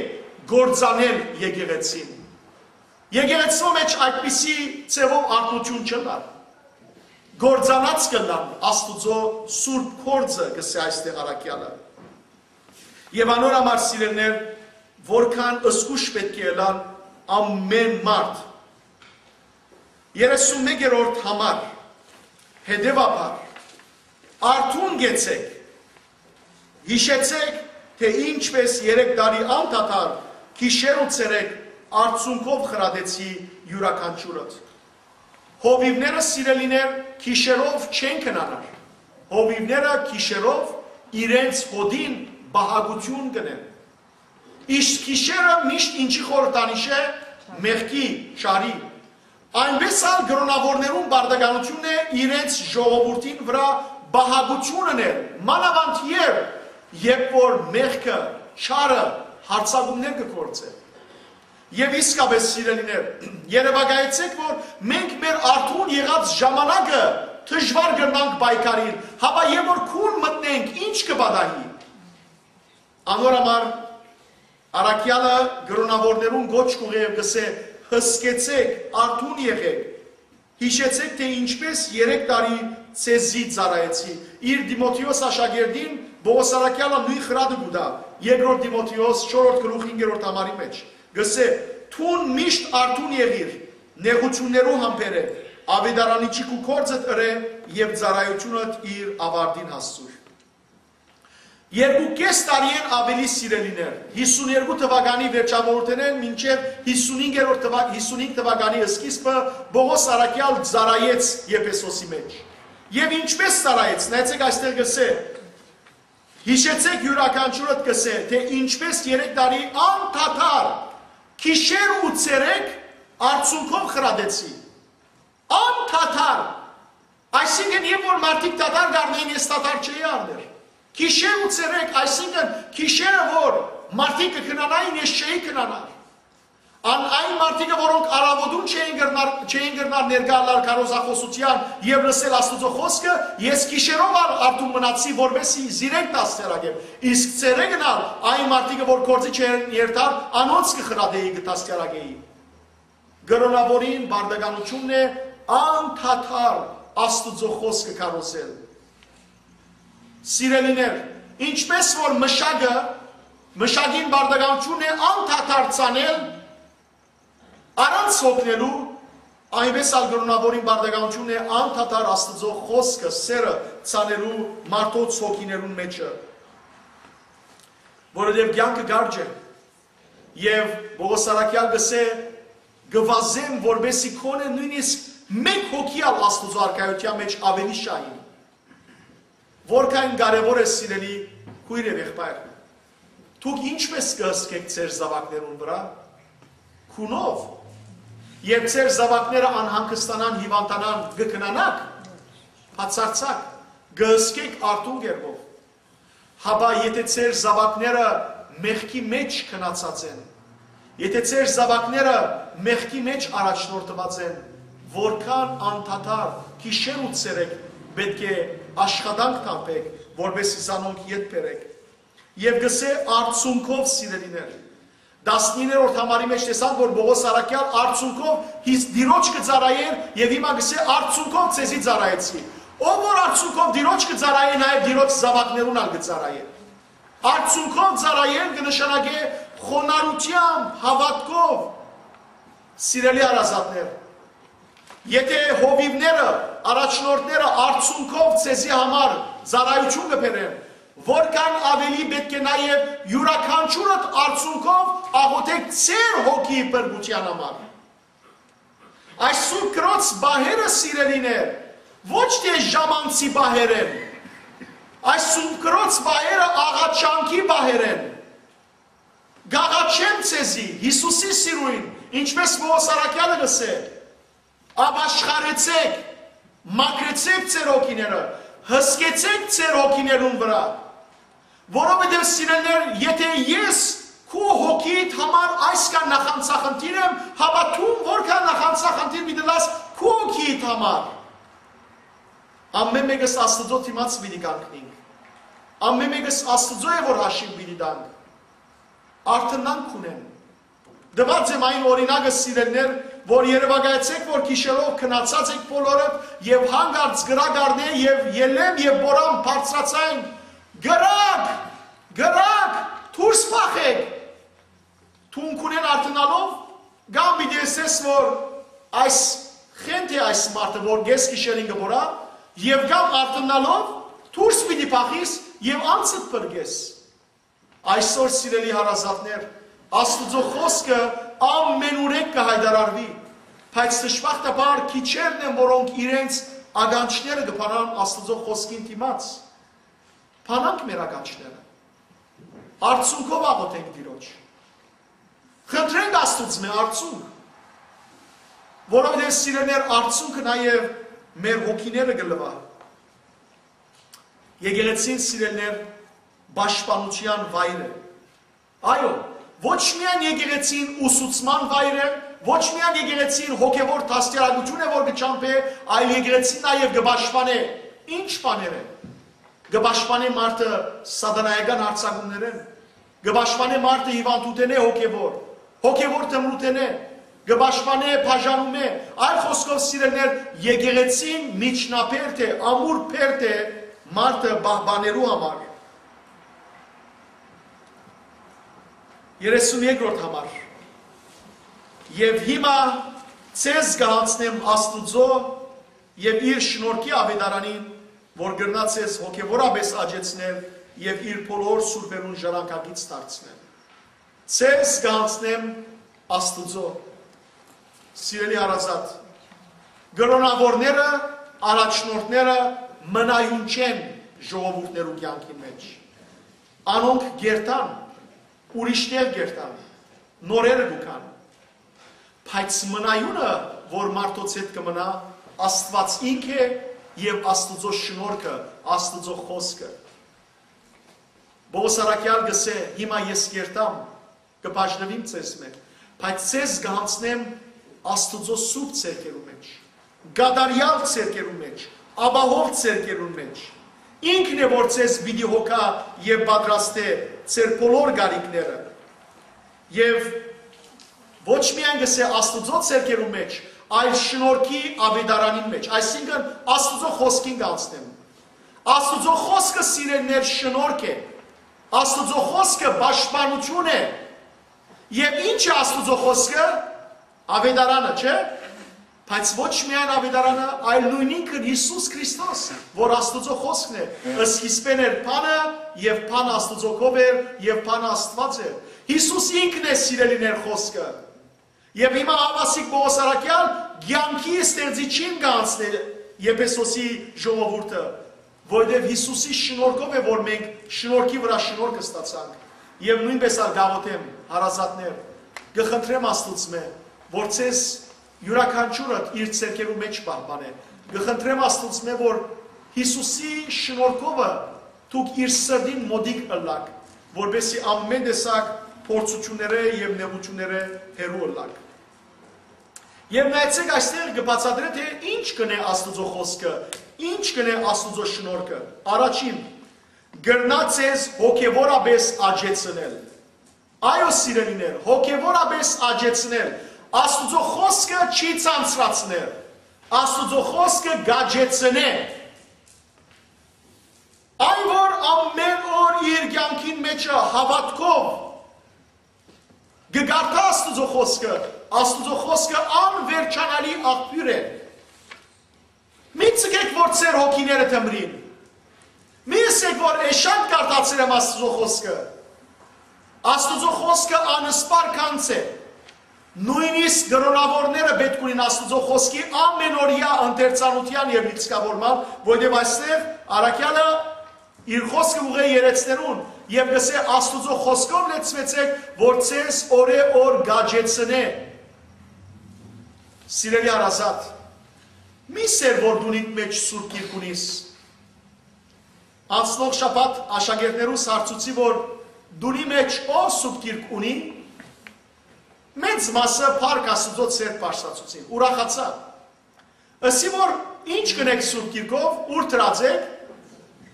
կործանել եկեղեցին։ Եկեղեցւոյ մէջ այդպիսի ձեւով արթնություն չըլլար։ Կործանած կ'ըլլան Աստուծոյ սուրբ գործը, կ'ըսէ այստեղ առաքեալը։ Եւ անոր համար, սիրելիներ, որքան զգոյշ պէտք է ըլլան ամէն մարդ։ Երեսունմեկերորդ համար. հետեւաբար, արթուն կեցեք, յիշեցեք, թէ ինչպէս երեք տարի անդադար գիշեր ու ցերեկ արցունքով խրատեցի իւրաքանչիւրդ։ Հովիւները, սիրելիներ, գիշերով չեն քնանար։ Հովիւները գիշերով իրենց հօտին պահակութիւն կ'ընեն։ Իսկ գիշերը միշտ ինչի խորհրդանիշ է? Մեղքի, չարի։ Այնպէս ալ կրօնաւորներուն պարտականութիւնն է իրենց ժողովուրդին վրայ պահակութիւն ընել, մանաւանդ երբ, երբ որ մեղքը, չարը յարձակումներ կը գործէ։ Եւ իսկապէս, սիրելիներ, երեւակայեցէք, որ մենք մեր արթուն եղած ժամանակը դժուար կրնանք պայքարիլ, հապա երբ որ քուն մտնենք, ինչ կը պատահի։ Անոր համար առաքեալը կրօնաւորներուն կոչ կ'ուղղէ եւ կ'ըսէ. «Հսկեցեք, արթուն եղեք, յիշեցեք, թէ ինչպէս երեք տարի ձեզի ծառայեցի»։ Իր Տիմոթէոս աշակերտին Պողոս առաքեալը նոյն խրատը կու տայ, երկրորդ Տիմոթէոս չորրորդ գլուխ հինգերորդ համարի մէջ, կ'ըսէ. «Դուն միշտ արթուն եղիր նեղութիւններու համբերէ, աւետարանիչի քու գործդ ըրէ եւ ծառայութիւնդ իր աւարտին հասցուր»։ Երկու կէս տարիէն աւելի, սիրելիներ, յիսուներկու թուականի վերջաւորութենէն մինչեւ յիսունհինգերորդ թուա-, յիսունհինգ թուականի սկիզբը Պողոս առաքեալ ծառայեց Եփեսոսի մէջ։ Եւ ինչպէս ծառայեց, նայեցեք, այստեղ կ'ըսէ. «Յիշեցեք, իւրաքանչիւրդ կ'ըսէ, թէ ինչպէս երեք տարի անդադար գիշեր ու ցերեկ արցունքով խրատեցի»։ Անդադար։ Այսինքն, երբ որ մարդիկ դադար կ'առնէին, ես դադար չէի առներ։ Գիշեր ու ցերեկ, այսինքն, գիշերը որ մարդիկ կը քնանային, ես չէի քնանար։ Ան այն մարդիկը, որոնք առաւօտուն չէին կրնար, չէին կրնար ներկայ ըլլալ քարոզախօսութեան եւ լսել Աստուծոյ խօսքը, ես գիշերով ալ արթուն մնացի, որպէս զի զիրենք դաստիարակեմ։ Իսկ ցերեկն ալ այն մարդիկը, որ գործի չէին երթար, անոնց կը խրատէի, կը դաստիարակէի։ Կրօնաւորին պարտականութիւնն է անդադար Աստուծոյ խօսքը քարոզել։ Սիրելիներ, ինչպէս որ մշակը, մշակին պարտականութիւնն է անդադար ցանել, առանց հոգնելու, այնպէս ալ կրօնաւորին պարտականութիւնն է անդադար Աստուծոյ խօսքը, սերը ցանելու մարդոց հոգիներուն մէջը, որովհետեւ կեանքը կարճ է։ Եւ Պողոս առաքեալ կ'ըսէ. «Կը վազեմ, որպեսզի գոնե նոյնիսկ Մէկ հոգի ալ Աստուծոյ արքայութեան մէջ աւելի շահ ին։ Որքան կարեւոր է, սիրելի քոյր եւ եղբայր, դուք ինչպէս կը հսկէք ձեր զաւակներուն վրայ, քունով, երբ ձեր զաւակները անհանգստանան, հիւանդանան, կը քնանաք, բացարձակ, կը հսկէք արթուն կերպով։ Հապա եթէ ձեր զաւակները մեղքի մէջ գնացած են, եթէ ձեր զաւակները մեղքի մէջ առաջնորդուած են, որքան անդադար գիշեր ու ցերեկ պէտք է աշխատանք թափէք, որպէս զի զանոնք ետ բերէք։ Եւ կ'ըսէ, արդյունքով, սիրելիներ, տասնիններորդ համարի մէջ տեսանք, որ Պողոս առաքեալ արդյունքով հիս Տիրոջ կը ծառայէր եւ հիմա կ'ըսէ, արդյունքով ձեզի ծառայեցի։ Ով որ արդյունքով Տիրոջ կը ծառայէ, նաեւ Տիրոջ զաւակներուն ալ կը ծառայէ։ Արդյունքով ծառայել կը նշանակէ խոնարհութեամբ, հաւատքով, սիրելի հարազատներ։ Եթէ հովիւները, առաջնորդները արդյունքով ձեզի համար ծառայութիւն կը բերեն, որքան աւելի պէտք է նաեւ իւրաքանչիւրդ արդյունքով աղօթէք ձեր հոգիի փրկութեան համար։ Այս սուրբ կրոց պահերը, սիրելիներ, ոչ թէ ժամանցի պահեր են, այս սուրբ կրոց պահերը աղաչանքի պահեր են։ Կ'աղաչեմ ձեզի, Յիսուսի սիրոյն, ինչպէս Պողոս առաքեալը կ'ըսէ, ապաշխարեցէք, մաքրեցէք ձեր հոգիները, հսկեցէք ձեր հոգիներուն վրայ, որովհետեւ, սիրելիներ, եթէ ես քու հոգիդ համար այսքան նախանձախնդիր եմ, հապա դուն որքան նախանձախնդիր պիտի լաս քու հոգիդ համար։ Ամէն մէկս Աստուծոյ դիմաց պիտի կանգնենք։ Ամէն մէկս Աստուծոյ է, որ հաշիւ պիտի տանք։ Արդնանք ունեն։ Տուած եմ այն օրինակը, սիրելիներ, որ երեւակայեցէք, որ գիշերով քնացած եք բոլորը եւ հանկարծ կրակ առնէ եւ ելեմ եւ պորամ բարձրացայն, կրակ, կրակ, դուրս փախեք։ Դուն քունեն արդնալով կամ պիտի ըսես, որ այս խենթ է այս մարդը, որ կես գիշերին կը պորա, եւ կամ արդնալով դուրս պիտի փախիս եւ անցդ փրկես։ Այսօր, սիրելի հարազատներ, Աստուծոյ խօսքը ամենուրեք կը հայտարարուի, բայց դժբախտաբար քիչերն են, որոնք իրենց ականջները կը բանան Աստուծոյ խօսքին դիմաց։ Բանանք մեր ականջները։ Արդյունքով աղօթենք Տիրոջ։ Խնդրենք Աստուծմէ արդյունք, որովհետեւ, սիրելիներ, արդյունքը նաեւ մեր հոգիները կը լուայ։ Եկեղեցին, սիրելիներ, պաշտպանութեան վայր է։ Այո, ոչ միայն եկեղեցին ուսուցման վայր է, ոչ միայն եկեղեցին հոգեվոր դաստիարակութիւն է, որ կը ճամփէ, այլ եկեղեցին նաեւ կը պաշտպանէ։ Ի՞նչ բաներ է։ Կը պաշտպանէ մարդը սատանայական յարձակումներէն, կը պաշտպանէ մարդը հիւանդութենէ հոգեվոր, հոգեվոր թմրութենէ, կը պաշտպանէ բաժանումէ, այլ խօսքով, սիրելիներ, եկեղեցին միջնաբերդ է, ամուր բերդ է մարդը պահպանելու համար։ Երեսուն երկրորդ համար։ Եւ հիմա ձեզ կը յանձնեմ Աստուծոյ եւ իր շնորհքի աւետարանին, որ կրնայ ձեզ հոգեվորապէս աճեցնել եւ իր բոլոր սուրբերուն ժառանգակից դարձնել։ Ձեզ կը յանձնեմ Աստուծոյ։ Սիրելի հարազատ, կրօնաւորները, առաջնորդները մնայուն չեն ժողովուրդներու կեանքին մէջ։ Անոնք կ'երթան, ուրիշ տեղ կ'երթան, նորերը կու գան։ Բայց մնայունը, որ մարդոց հետ կը մնայ, Աստուած ինք է եւ Աստուծոյ շնորհքը, Աստուծոյ խօսքը։ Պողոս առաքեալ կ'ըսէ, հիմա ես կ'երթամ, կը բաժնուիմ ձեզմէ, բայց ձեզ կը յանձնեմ Աստուծոյ սուրբ ձեռքերու մէջ, կատարեալ ձեռքերու մէջ, ապահով ձեռքերու մէջ։ Ինքն է, որ ձեզ պիտի հոգայ եւ պատրաստէ ձեր բոլոր կարիքները։ Եւ ոչ միայն կ'ըսէ Աստուծոյ ձեռքերու մէջ, այլ շնորհքի աւետարանին մէջ, այսինքն Աստուծոյ խօսքին կ'յանձնեմ։ Աստուծոյ խօսքը, սիրելիներ, շնորհք է։ Աստուծոյ խօսքը պաշտպանութիւն է։ Եւ ի՞նչ է Աստուծոյ խօսքը։ Աւետարանը, չէ՞։ Բայց ոչ միայն աւետարանը, այլ նոյնինքն Յիսուս Քրիստոս, որ Աստուծոյ խօսքն է, սկիզբէն էր բանը, եւ բանը Աստուծոյ քով էր, եւ բանը Աստուած էր։ Յիսուս ինքն է, սիրելիներ, խօսքը։ Եւ հիմա Հաւասիկ Պողոս առաքեալ կեանքի ստեղծիչին կը անցնէ Եփեսոսի ժողովուրդը, որովհետեւ Յիսուսի շնորհքով է, որ մենք շնորհքի վրայ շնորհք ստացանք, եւ նոյնպէս ալ կ'աղօթեմ, հարազատներ, կը խնդրեմ Աստուծմէ, որ ձեզ յուրաքանչիւրը իր ձեռքերու մէջ պահպանէ։ Կը խնդրեմ Աստուծմէ, որ Յիսուսի շնորհքովը դուք իր սրտին մօտիկ ըլլաք, որպեսզի ամէն տեսակ փորձութիւններէ եւ նեղութիւններէ հեռու ըլլաք։ Եւ նայեցէք, այստեղ կը բացատրէ, թէ ինչ կ'ընէ Աստուծոյ խօսքը, ինչ կ'ընէ Աստուծոյ շնորհքը։ Առաջին, կրնայ ձեզ հոգեւորապէս աճեցնել։ Այո, սիրելիներ, հոգեւորապէս աճեցնել։ Աստուծոյ խօսքը չի ցանցրացներ։ Աստուծոյ խօսքը կ'աճեցնէ։ Այն, որ ամէն օր իր կեանքին մէջը հաւատքով կը կարդայ Աստուծոյ խօսքը, Աստուծոյ խօսքը անվերջանալի աղբիւր է։ Մի ձգէք, որ ձեր հոգիները թմրին։ Մի ըսէք, որ էշանք կարդացեր եմ Աստուծոյ խօսքը։ Աստուծոյ խօսքը անսպառ գանձ է։ Նոյնիսկ կրօնաւորները պէտք ունին Աստուծոյ խօսքի ամէնօրեայ ընթերցանութեան եւ լիցքաւորման, որովհետեւ այստեղ առաքեալը իր խօսքը ուղղէ երեցներուն եւ կ'ըսէ. «Աստուծոյ խօսքով լեցուեցէք, որ ձեզ օրէ օր կ'աճեցնէ»։ Սիրելի հարազատ, մի սեր որ դունիդ մէջ Սուրբ Գիրք ունիս։ Անցնող շաբաթ աշակերտներուս հարցուցի, որ դունի մէջ ով Սուրբ Գիրք ունի, մեծ մասը փառք Աստուծոյ ձեռք բարձրացուցին, ուրախացայ։ Ըսի, որ ինչ կ'ընէք Սուրբ Գիրքով, ո՞ւր դրած էք։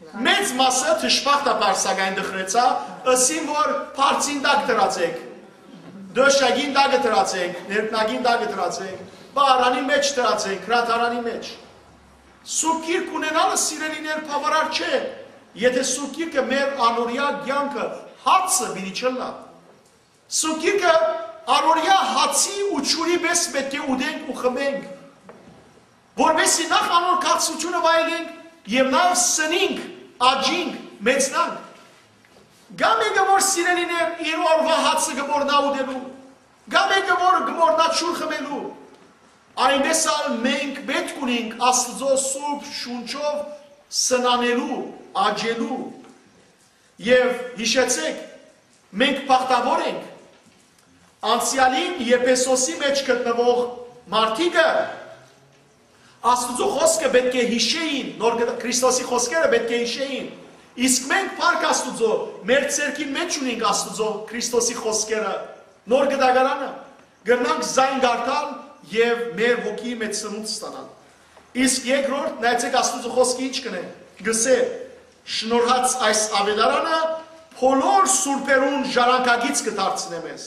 Մեծ մասը, դժբախտաբար սակայն, տխրեցայ, ըսին, որ բարձին տակ դրած էք, դոշակին տակը դրած էք, ներքնակին տակը դրած էք, պահարանի մէջ դրած էք, գրադարանի մէջ։ Սուրբ Գիրք ունենալը, սիրելիներ, բաւարար չէ, եթէ Սուրբ Գիրքը մեր անօրեայ կեանքը հացը պիտի չըլլայ։ Սուրբ Գիրքը առօրեայ հացի ու ջուրի պէս պէտք է ուտենք ու խմենք, որպեսզի նախ անոր քաղցրութիւնը վայելենք եւ նաեւ սնինք, աճինք, մեծնանք։ Կայ մէկը, որ, սիրելիներ, իր օրուայ հացը կը մոռնայ ուտելու, կայ մէկը, որ կը մոռնայ ջուր խմելու։ Այնպէս ալ մենք պէտք ունենք Աստուծոյ Սուրբ Շունչով սնանելու, աճելու։ Եւ յիշեցէք, մենք բախտաւոր ենք։ Անցեալին Եփեսոսի մէջ գտնուող մարդիկը Աստուծոյ խօսքը պէտք է յիշէին, նոր գտ-, Քրիստոսի խօսքերը պէտք է յիշէին։ Իսկ մենք, փառք Աստուծոյ, մեր ձեռքին մէջ ունենք Աստուծոյ Քրիստոսի խօսքերը, նոր գտակարանը, կրնանք զայն կարդալ եւ մեր հոգիի մէջ սնունդ ստանալ։ Իսկ երկրորդ, նայեցէք, Աստուծոյ խօսքը ինչ կ'ընէ, կ'ըսէ. «Շնորհած այս աւետարանը բոլոր սուրբերուն ժառանգագիծ կը դարձնէ մեզ»։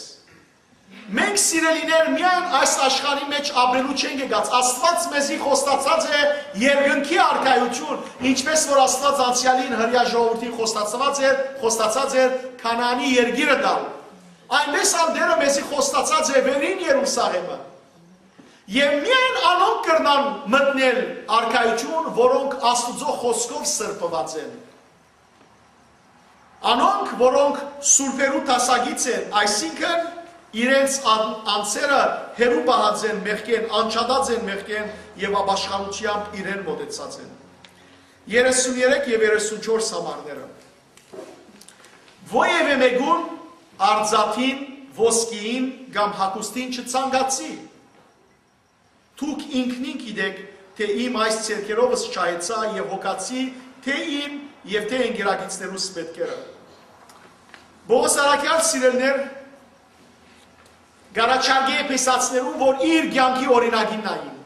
Մենք, սիրելիներ, միայն այս աշխարհի մէջ ապրելու չենք եկած։ Աստուած մեզի խոստացած է երկնքի արքայութիւն, ինչպէս որ Աստուած անցեալին հրեայ ժողովուրդին խոստացած էր, խոստացած էր Քանանի երկիրը տալ։ Այնպէս ալ Տէրը մեզի խոստացած է վերին Երուսաղէմը։ Եւ միայն անոնք կրնան մտնել արքայութիւն, որոնք Աստուծոյ խօսքով սրբուած են։ Անոնք, որոնք սուրբերու դասագիծ են, այսինքն իրենց ան-, անձերը հեռու պահած են մեղքէն, անջատած են մեղքէն եւ ապաշխարութեամբ իրեն մօտեցած են։ Երեսուներեք եւ երեսունչորս համարները։ Ոեւէ մէկուն արծաթին, ոսկիին կամ հագուստին չցանկացի։ Դուք ինքնին գիտէք, թէ իմ այս ձեռքերովս չայեցայ եւ հոգացի թէ իմ եւ թէ ընկերակիցներուս մէտքերը։ Պողոս առաքեալ, սիրելիներ, կ'առաջարկէ Եփեսացիներուն, որ իր կեանքի օրինակին նային։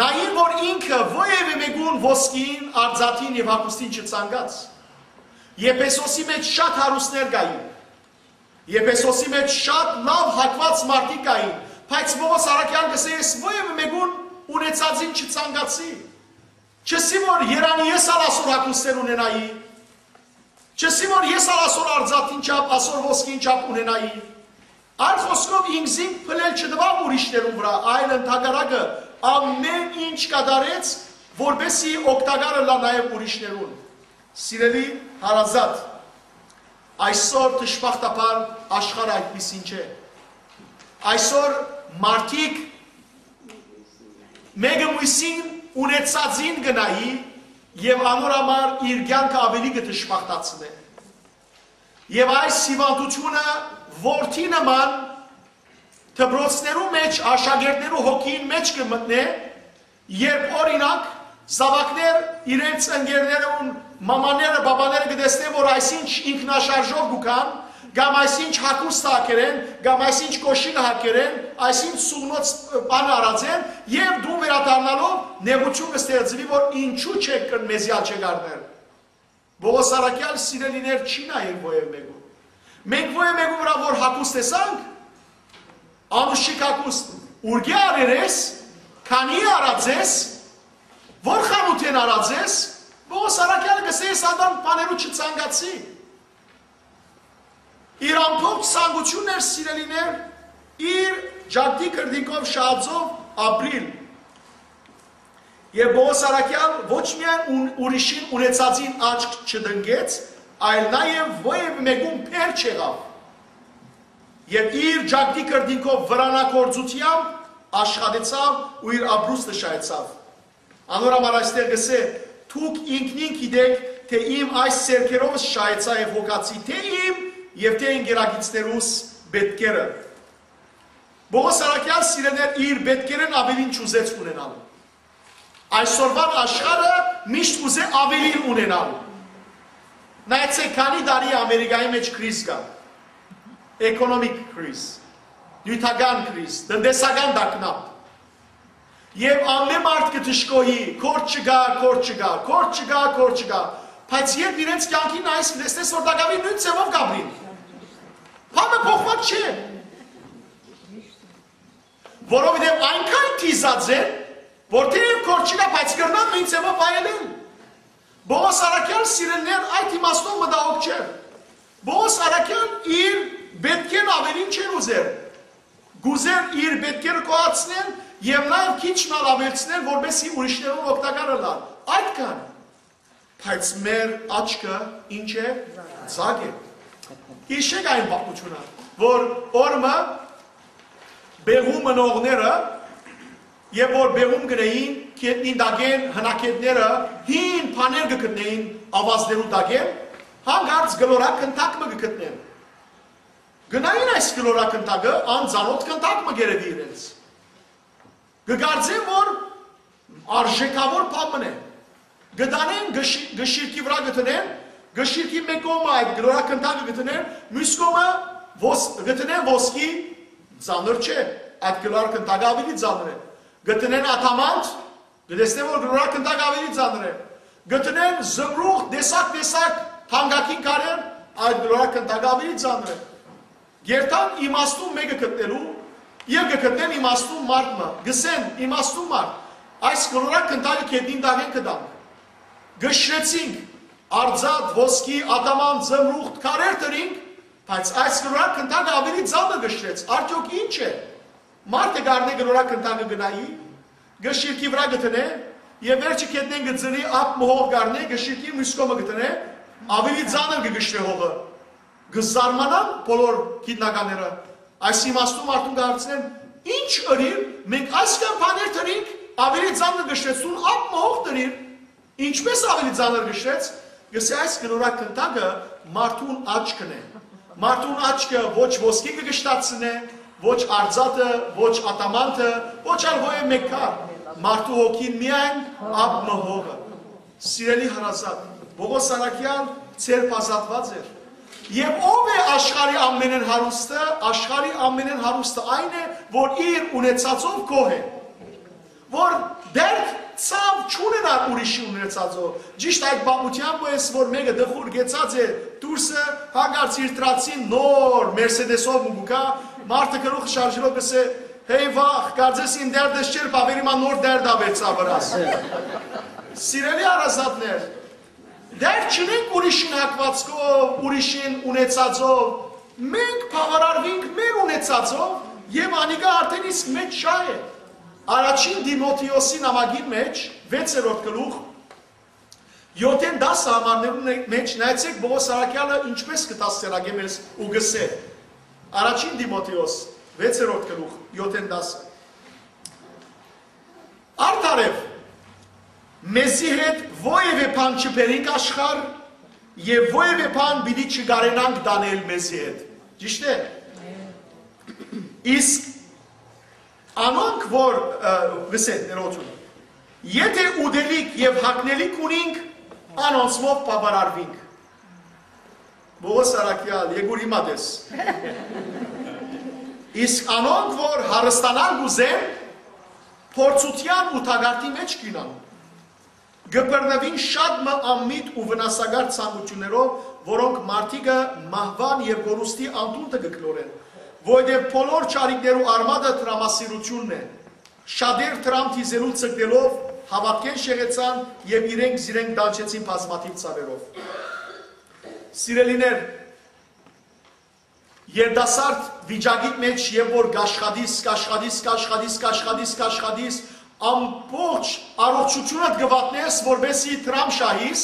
Նային, որ ինքը ոեւէ մէկուն ոսկիին, արծաթին եւ հագուստին չցանկաց։ Եփեսոսի մէջ շատ հարուստներ կային։ Եփեսոսի մէջ շատ լաւ հագուած մարդիկ կային, բայց Պողոս առաքեալ կ'ըսէ. «Ես ոեւէ մէկուն ունեցածին չցանկացի»։ Չ'ըսի, որ երանի ես ալ ասոր հագուստներ ունենայի, չ'ըսի, որ ես ալ ասոր արծաթին չափ, ասոր ոսկին չափ ունենայի։ Այլ խօսքով, ինքզինք փլել չտուաւ ուրիշներուն վրայ, այլ ընդհակառակը, ամէն ինչ կատարեց, որպեսզի օգտակար ըլլայ նաեւ ուրիշներուն։ Սիրելի հարազատ, այսօր, դժբախտաբար, աշխարհը այդպիսին չէ։ Այսօր մարդիկ մէկը մոյսին ունեցածին կը նայի եւ անոր համար իր կեանքը աւելի կը դժբախտացնէ։ Եւ այս հիւանդութիւնը որդի նման դպրոցներու մէջ աշակերտներու հոգիին մէջ կը մտնէ, երբ, օրինակ, զաւակներ իրենց ընկերներուն մամաները, բաբաները կը տեսնեն, որ այսինչ ինքնաշարժով կու գան, կամ այսինչ հագուստ հագերեն, կամ այսինչ կոշիկը հագերեն, այսինչ սուղնոց բան արած են, եւ դուն վերադառնալով նեղութիւն կը ստեղծուի, որ ինչու՞ չեք կրնար մեզի ալ չեք առնել։ Պողոս առաքեալ, սիրելիներ, չի նայեր ովեւ մէկուն։ Մենք ովեւ մէկուն վրայ որ հագուստ տեսանք, անուշիկ հագուստ, ուրկէ առեր ես, քանի առած ես, որ խանութեն առած ես, Պողոս առաքեալը կ'ըսէ, ես ադամ բաներու չցանկացի։ Իր ամբողջ ցանկութիւնն էր, սիրելիներ, իր ճակտի կրտինքով շահածով ապրիլ։ Եւ Պողոս առաքեալ ոչ միայն ուն-, ուրիշին ունեցածին աչք չտնկեց, այլ նաեւ ովեւ մէկուն փեր չեղաւ։ Եւ իր ճակտի կրտինքով վրանակորձութեամբ աշխատեցաւ ու իր ապրուստը շահեցաւ։ Անոր համար այստեղ կ'ըսէ. «Դուք ինքնին գիտէք, թէ իմ այս ձեռքերովս շահեցայ եւ հոգացի թէ իմ եւ թէ ընկերակիցներուս պետքերը»։ Պողոս առաքեալ, սիրելիներ, իր պետքերէն աւելին չուզեց ունենալ։ Այսօրվան աշխարհը միշտ կ'ուզէ աւելին ունենալ։ Նայեցէք, քանի տարի Ամերիկայի մէջ քրիզ կայ, էկոնոմիկ քրիզ, նիւթական քրիզ, տնտեսական տագնապ։ Եւ ամէն մարդ կը դժգոհի, կորդ չկայ, կորդ չկայ, կորդ չկայ, կորդ չկայ։ Բայց երբ իրենց կեանքին նայես, կը տեսնես, որ տակաւին նոյն ձեւով կ'ապրին։ Բանը փոխուած չէ։ Որովհետեւ այնքան դիզած են, որ թէեւ կորդ չկայ, բայց կրնան նոյն ձեւով վայելել։ Պողոս առաքեալ, սիրելիներ, այդ իմաստով մտահոգ չէ։ Պողոս առաքեալ իր պետքէն աւելին չէր ուզեր։ Կ'ուզեր իր պետքերը գոյացնել եւ նաեւ քիչ մը ալ աւելցնել, որպեսզի ուրիշներուն օգտակար ըլլար։ Այդքան։ Բայց մեր աչքը ինչ է, ձագ է։ Յիշեք այն պատմութիւնը, որ օրը մը բեղում մնողները, երբ որ բեղում կ'ընէին, գետնին տակէն հնակետները հին բաներ կը գտնէին, աւազներու տակէն, հանկարծ կլորակ գնդակ մը կը գտնեն։ Գնային այս կլորագնդակը, անծանօթ գնդակ մը կ'երեւի իրենց։ Կը կարծեն, որ արժէքաւոր բան մըն է։ Կը տանեն, կը շի-, կը շիրքի վրայ կը դնեն, կը շիրքի մէկ կողմը այդ կլորագնդակը կը դնեն, միւս կողմը ոս-, կը դնեն ոսկի, ծանր չէ, այդ կլորագնդակը աւելի ծանր է։ Կը դնեն ադամանդ, կը տեսնեն, որ կլորագնդակը աւելի ծանր է։ Կը դնեն զմրուղ, տեսակ-տեսակ թանկագին քարեր, այդ կլորագնդակը աւելի ծանր է։ Կ'երթան իմաստուն մէկը գտնելու եւ կը գտնեն իմաստուն մարդ մը։ Կ'ըսեն, իմաստուն մարդ, այս կլորագնդակը գետնին տակէն կը տանք։ Կը շրեցինք, արծաթ, ոսկի, ադամանդ, զմրուղ, քարեր դրինք, բայց այս կլորագնդակը աւելի ծանր կը շրեց։ Արդեօք ի՞նչ է։ Մարդը կ'առնէ կլորագնդակը, կը նայի, կը շիրքի վրայ կը դնէ, եւ վերջը գետնին կը ծլի, ափ մը հող կ'առնէ, կը շիրքի, միւս կողմը կը դնէ, աւելի ծանր կը կշռէ հողը։ Կը զարմանան բոլոր գիտնականները։ Այս իմաստուն մարդուն կը հարցնեն, «Ի՞նչ ըրիր, մենք այսքան բաներ դրինք, աւելի ծանր կը շրեցնուն, ափ մը հող դրիր, ինչպէս աւելի ծանր կը շրեց»։ Կ'ըսէ, այս կլորագնդակը մարդուն աչքն է։ Մարդուն աչքը ոչ ոսկի կը կշտացնէ, ոչ արծաթը, ոչ ադամանդը, ոչ ալ ովեւ մէկ քար։ Մարդու հոգին միայն ափ մը հողը։ Սիրելի հարազատ, Պողոս առաքեալ ձերբազատուած էր։ Եւ ո՞վ է աշխարհի ամենէն հարուստը։ Աշխարհի ամենէն հարուստը այն է, որ իր ունեցածով գոհ է, որ դեռ ցաւ չունենար ուրիշի ունեցածով։ Ճիշտ այդ պատմութեան պոյս, որ մէկը տխուր կեցած է, դուրսը հանկարծ իր դրացին նոր Մերսեդեսով մը կու գայ, մարդը գլուխը շարժելով կ'ըսէ, «Հեյ վախ, կարծես իմ դերդս չէր, բաւերի մը նոր դերդ աւերցայ վրաս»։ Սիրելի հարազատներ, դեռ չունենք ուրիշին հագուածքով, ուրիշին ունեցածով, մենք բաւարարուինք մեր ունեցածով եւ անիկա արդեն իսկ մեծ շահ է։ Առաջին Տիմոթէոսի նամակին մէջ, վեցերորդ գլուխ, յոթէն տասը համարներուն մէջ նայեցէք Պողոս առաքեալը ինչպէս կը դաստիարակէ մեզ ու կ'ըսէ. Առաջին Տիմոթէոս, Վեցերորդ գլուխ, յոթ տասը։ Արդարեւ, մեզի հետ որեւէ բան չբերինք աշխարհ եւ որեւէ բան պիտի չկարենանք տանել մեզի հետ։ Ճիշդ է։ Իսկ անոնք որ, ը, գսեն, ներողություն, եթե ուտելիք եւ հագնելիք ունինք, անոնցմով բաւարարուինք։ Պողոս Արաքեալ, եկուր հիմա տես։ Իսկ անոնք որ հարստանալ կ'ուզեն, փորձութեան ու թակարդի մէջ կ'ինան, կը բռնուին շատ մը անմիտ ու վնասակար ցանկութիւններով, որոնք մարդիկը մահուան եւ կորուստի անդունդը կը գլորեն, որովհետեւ բոլոր չարիքներու արմատը տրամասիրութիւնն է։ Շատեր տրամ դիզելու ձգտելով հաւատքէն շեղեցան եւ իրենք զիրենք տանջեցին բազմաթիւ ցաւերով։ Սիրելիներ, երիտասարդ վիճակի մեջ, երբ որ կաշխատիս, կաշխատիս, կաշխատիս, կաշխատիս, կաշխատիս, ամբողջ առողջութիւնդ կը վատնես, որպեսզի տրամ շահիս,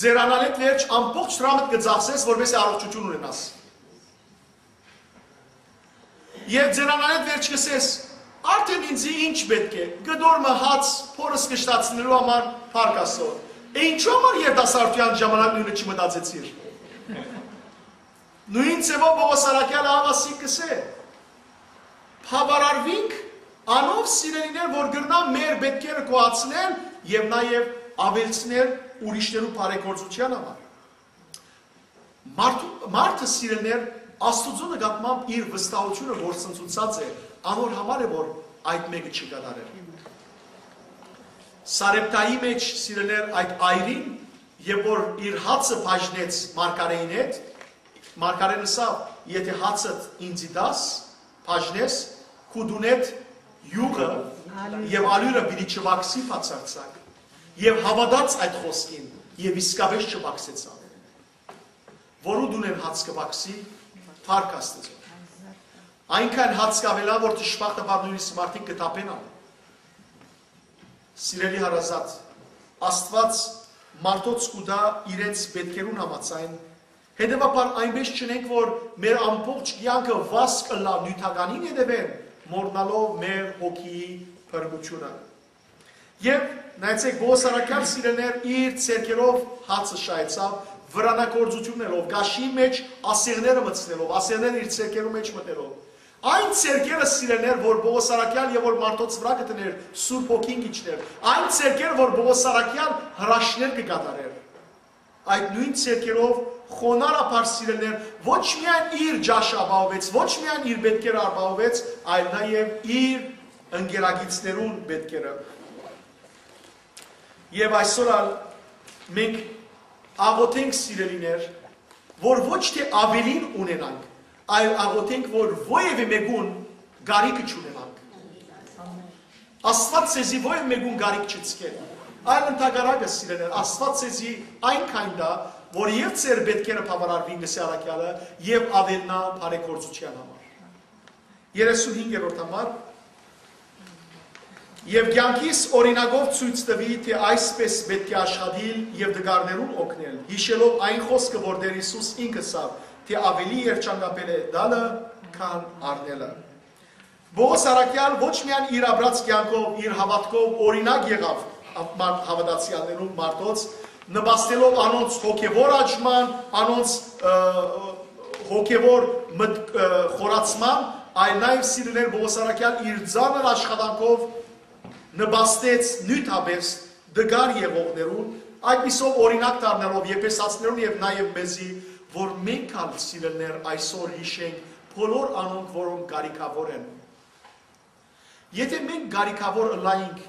ձերանալէտ վերջ ամբողջ տրամդ կը ծախսես, որպեսզի առողջութիւն ունենաս։ Եւ ձերանալէտ վերջ կ'ըսես. «Արդեն ինձի ի՞նչ պէտք է, կտոր մը հաց, փորս կշտացնելու համար փառք Աստծո»։ Է ինչո՞ւ համար երիտասարդութեան ժամանակ նոյնը չմտածեցիր։ Նոյն ձեւով Պողոս Արաքեալը ահա ասի կ'ըսէ. «Բաւարարուինք անով, սիրելիներ, որ կրնան մեր պէտքերը գոհացնել եւ նաեւ աւելցնել ուրիշներու բարեգործութեան համար»։ Մարդու, մարդը, սիրելիներ, Աստուծոյ նկատմամբ իր վստահութիւնը որ ցնցուցած է, անոր համար է որ այդ մէկը չի կատարել։ Սարեպտայի մեջ, սիրելիներ, այդ այրին, երբ որ իր հացը բաժնեց մարգարէին հետ, մարգարէն ըսաւ. «Եթե հացդ ինձի տաս, բաժնես, քու տունէդ յուղը եւ ալիւրը պիտի չվակսի բացարձակ»։ Եւ հաւատաց այդ խօսքին եւ իսկապէս չվակսեցաւ։ Որու տունէն հաց կը վակսի, փառք Աստուծոյ։ Այնքան հաց կ'աւելայ, որ դժբախտաբար նոյնիսկ մարդիկ կը թափենան։ Սիրելի հարազատ, Աստուած մարդոց կու տայ իրենց պէտքերուն համաձայն, հետեւաբար այնպէս չընենք, որ մեր ամբողջ կեանքը վազք ըլլայ նիւթականին հետեւէն, մոռնալով մեր հոգիի փրկութիւնը։ Եւ նայեցէք, Պողոս Արաքեալ, սիրելիներ, իր ձեռքերով հացը շահեցաւ, վրանագործութիւններով, կաշիի մեջ ասեղները մտցնելով, ասեղները իր ձեռքերու մեջ մտնելով։ Այն ձեռքերը, սիրելիներ, որ Պողոս Արաքեալ եւ որ մարդոց վրայ կը դներ, Սուրբ Հոգին կ'իջներ, այն ձեռքերը, որ Պողոս Արաքեալ հրաշքներ կը կատարեր, այդ նոյն ձեռքերով խոնարհաբար, սիրելիներ, ոչ միայն իր ճաշը ապահովեց, ոչ միայն իր պէտքերը ապահովեց, այլ նաեւ իր ընկերակիցներուն պէտքերը։ Եւ այսօր ալ մենք աղոթենք, սիրելիներ, որ ոչ թէ աւելին ունենանք, այլ աղոթենք, որ որեւէ մէկուն կարիքը չունենանք։ Աստուած ձեզի որեւէ մէկուն կարիք չի ցկել, այլ ընդհակառակը, սիրելիներ, Աստուած ձեզի այնքան տայ, որ եւ ձեր պէտքերը բաւարարուին, կ'ըսէ առաքեալը, եւ աւելնայ բարեգործութեան համար։ Երեսունհինգերորդ համար։ Եւ կեանքիս օրինակով ցոյց տուի, թէ այսպէս պէտք է աշխատիլ եւ տկարներուն օգնել, յիշելով այն խօսքը, որ Տէր Յիսուս ինք ըսաւ, թէ ավելի երջանկապէս է տալը, քան առնելը։ Պողոս առաքեալ ոչ միայն իր ապրած կեանքով, իր հաւատքով օրինակ եղաւ մար-, հաւատացեալներուն, մարդոց, նպաստելով անոնց հոգեւոր աճման, անոնց, ը, հոգեւոր մտ-, ը, խորացման, այլ նաեւ, սիրելիներ, Պողոս առաքեալ իր ծանր աշխատանքով նպաստեց նիւթապէս տկար եղողներուն, այդպիսով օրինակ դառնալով եփեսացիներուն եւ նաեւ մեզի, որ մենք ալ, սիրելիներ, այսօր յիշենք բոլոր անոնք, որոնք կարիքաւոր են։ Եթե մենք կարիքաւոր ըլլայինք,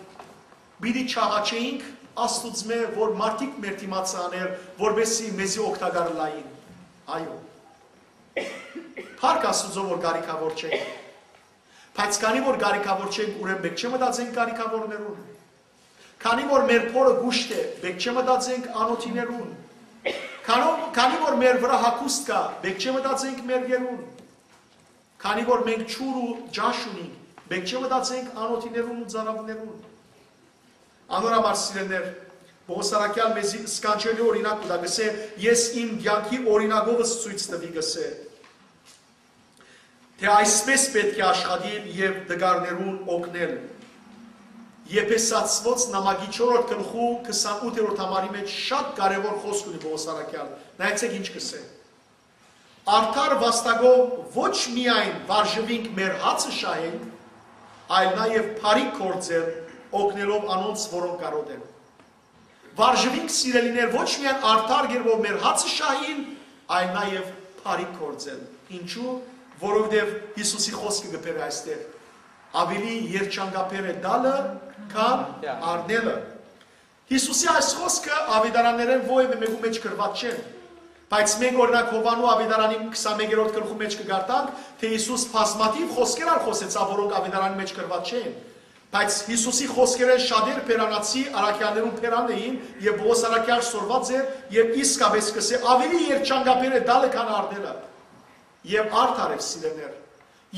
պիտի չաղաչէինք Աստուծմէ, որ մարդիկ մեր դիմացը անէր, որպեսզի մեզի օգտակար ըլլային։ Այո։ Փառք Աստուծոյ, որ կարիքաւոր չենք։ Բայց քանի որ կարիքաւոր չենք, ուրեմն պէտք չէ մտածենք կարիքաւորներուն։ Քանի որ մեր փորը կուշտ է, պէտք չէ մտածենք անօթիներուն։ Քանո-, քանի որ մեր վրայ հագուստ կայ, պէտք չէ մտածենք մերկերուն։ Քանի որ մենք ջուր ու ճաշ ունենք, պէտք չէ մտածենք անօթիներուն ու ծարաւներուն։ Անոր համար, սիրելիներ, Պողոս առաքեալ մեզի սքանչելի օրինակ կու տայ, կ'ըսէ. «Ես իմ կեանքի օրինակովս ցոյց տուի», կ'ըսէ։ թէ այսպէս պէտք է աշխատիլ եւ տկարներուն օգնել։ Եփեսացիներուն նամակի չորրորդ գլխու քսանութերորդ համարի մէջ շատ կարեւոր խօսք ունի Պողոս առաքեալ։ Նայեցէք ինչ կ'ըսէ. «Արդար վաստակով ոչ միայն վարժուինք մեր հացը շահել, այլ նաեւ բարի գործեր օգնելով անոնց, որոնք կարօտ են»։ Վարժուինք, սիրելիներ, ոչ միայն արդար կերպով մեր հացը շահիլ, այլ նաեւ բարի գործել։ Ինչու՞։ Որովհետեւ Յիսուսի խօսքը կը բերէ այստեղ. «Աւելի երջանկաբեր է տալը, քան առնելը»։ Յիսուսի այս խօսքը աւետարաններէն որեւէ մէկու մէջ գրուած չեն։ Բայց մենք, օրինակ, Յովհաննու աւետարանին քսանմեկերորդ գլխու մէջ կը կարդանք, թէ Յիսուս բազմաթիւ խօսքեր ալ խօսեցաւ, որոնք աւետարանի մէջ գրուած չեն։ Բայց Յիսուսի խօսքերէն շատեր բերանացի առաքեալներուն բերանն էին, եւ Պողոս առաքեալ սորված է, եւ իսկապէս կ'ըսէ. «Աւելի երջանկաբեր է տալը, քան առնելը»։ Եւ արդար էր, սիրելիներ,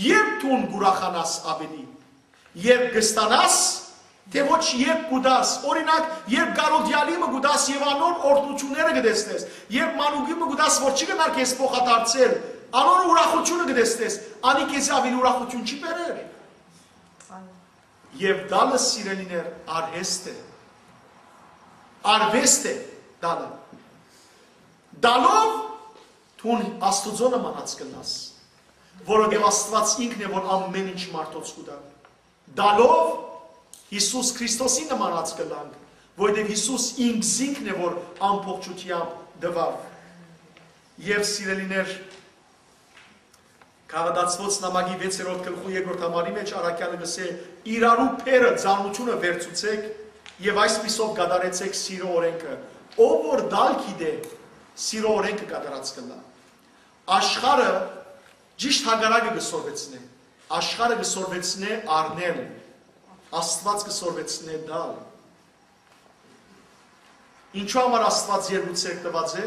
երբ դուն կ'ուրախանաս աւելի, երբ կ'ստանաս, թէ ոչ երբ կու տաս։ Օրինակ, երբ կարօտեալի մը կու տաս եւ անոր օրհնութիւնները կը տեսնես, երբ մանուկի մը կու տաս, որ չի գնար քեզ փոխադարձել, անոր ուրախութիւնը կը տեսնես, անի քեզի աւելի ուրախութիւն չի բերեր։ Եւ տալը, սիրելիներ, արհեստ է, արուեստ է տալը։ Տալով դուն Աստուծոյ նմանած կ'ըլլաս, որովհետեւ Աստուած ինքն է, որ ամէն ինչ մարդոց կու տայ։ Տալով Յիսուս Քրիստոսին նմանած կ'ըլլանք, որովհետեւ Յիսուս ինքզինքն է, որ ամբողջութեամբ տուաւ։ Եւ, սիրելիներ, Գաղատացիներուն նամակի վեցերորդ գլխու երկրորդ համարի մէջ առաքեալը կ'ըսէ. «Իրարու բեռը, ծանրութիւնը վերցուցէք եւ այսպիսով կատարեցէք սիրո օրէնքը։ Ով որ տալ գիտէ, սիրո օրէնքը կատարած կ'ըլլայ»։ Աշխարհը ճիշդ հակառակը կը սորվեցնէ։ Աշխարհը կը սորվեցնէ առնել, Աստուած կը սորվեցնէ տալ։ Ինչու համար Աստուած երկու ձեռք տուած է,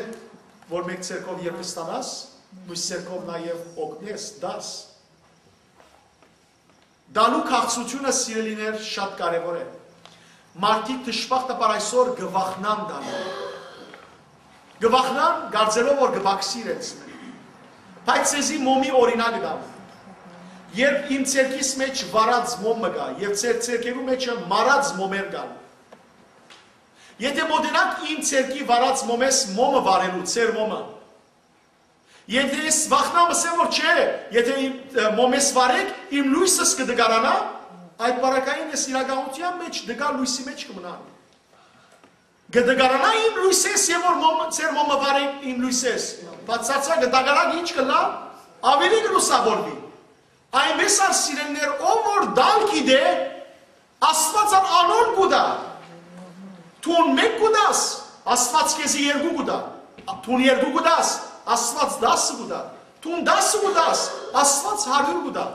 որ մէկ ձեռքով երբ ստանաս, միւս ձեռքով նաեւ օգնես, տաս։ Տալու քաղցրութիւնը, սիրելիներ, շատ կարեւոր է։ Մարդիկ դժբախտաբար այսօր կը վախնան տալու։ Կը վախնան, կարծելով որ կը պակսի իրենց։ Բայց ձեզի մոմի օրինակ տամ։ Երբ իմ ձեռքիս մէջ վառած մոմ մը կայ, եւ ձեր ձեռքերու մէջը մարած մոմեր կան, եթե մօտենաք իմ ձեռքի վառած մոմէս մոմը վառելու, ձեր մոմը, եթե ես վախնամ, ըսեմ որ չէ, եթե իմ, ը, մոմէս վառեք, իմ լոյսս կը տկարանայ, այդ պարագային ես իրականութեան մէջ տկար լոյսի մէջ կը մնան։ Կը տկարանայ իմ լոյսէս, եւ որ մոմ-, ձեր մոմը վառեք իմ լոյսէս։ Բացարձակ կը տկարանաք, ինչ կ'ըլլայ, աւելի կը լուսաւորուի։ Այնպէս ալ, սիրելիներ, ով որ տալ գիտէ, Աստուած ալ անոր կու տայ։ Դուն մէկ կու տաս, Աստուած քեզի երկու կու տայ։ Դուն երկու կու տաս, Աստուած դասը կու տայ։ Դուն դասը կու տաս, Աստուած հարիւր կու տայ։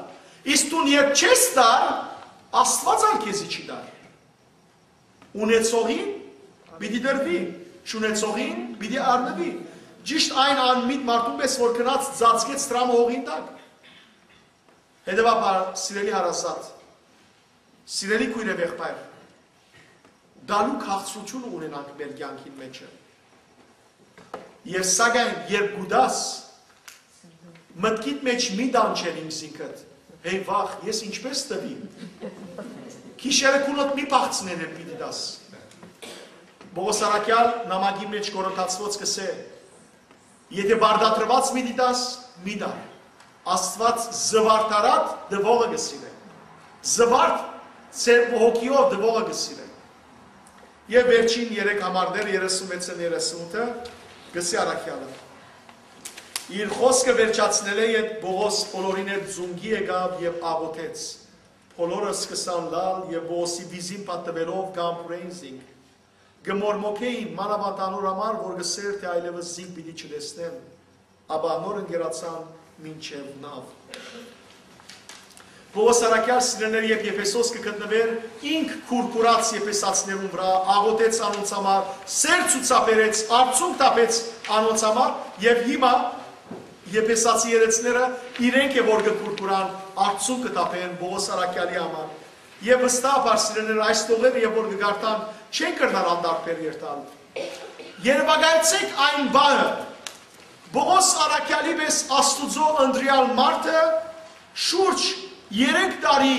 Իսկ դուն երբ չես տար, Աստուած ալ քեզի չի տար։ Ունեցողին պիտի տրուի, չունեցողին պիտի առնուի։ Ճիշդ այն անմիտ մարդուն պես, որ գնաց ծածկեց դրամը հողին տակ։ Հետեւաբար, սիրելի հարազատ, սիրելի քոյր եւ եղբայր, տալու քաղցրութիւնը ունենանք մեր կեանքին մէջը։ Եւ սակայն, երբ կու տաս, մտքիդ մէջ մի տանջեր ինքզինքդ. «Հեյ վախ, ես ինչպէս տուի»։ Գիշերը քունդ մի փախցնեն, երբ պիտի տաս։ Պողոս առաքեալ նամակի մէջ Կորինթացիներուն կ'ըսէ. «Եթէ պարտադրուած պիտի տաս, մի տա»։ Աստուած զուարթարատ տուողը կը սիրէ։ Զուարթ ձեր հոգիով տուողը կը սիրէ։ Եւ վերջին երեք համարներ, երեսունվեցը, երեսունութը, կ'ըսի առաքեալը. Իր խօսքը վերջացնելէ յետ Պողոս բոլորին հետ զունգի եկաւ եւ աղօթեց։ Բոլորը սկսան լալ եւ Պողոսի վիզին պատտուելով կ'ամբուրէին զինք։ Կը մորմոքէին մանաւանդ անոր համար, որ կ'ըսէր թէ այլեւս զինք պիտի չտեսնեմ, ապա անոր ընկերացան մինչեւ նաւ։ Պողոս առաքեալ, սիրելիներ, երբ Եփեսոս կը գտնուէր, ինք քուրքուրաց եփեսացիներուն վրայ, աղօթեց անոնց համար, սեր ցուցաբերեց, արցունք թափեց անոնց համար, եւ հիմա եփեսացի երեցները իրենք է որ կը քուրքուրան, արցունք կը թափեն Պողոս առաքեալի համար։ Եւ վստահաբար, սիրելիներ, այս տողերը, երբ որ կը կարդան, չեն կրնար անտարբեր երթալ։ Երեւակայեցէք այն բանը, Պողոս առաքեալի պես Աստուծոյ ընտրեալ մարդը շուրջ երեք տարի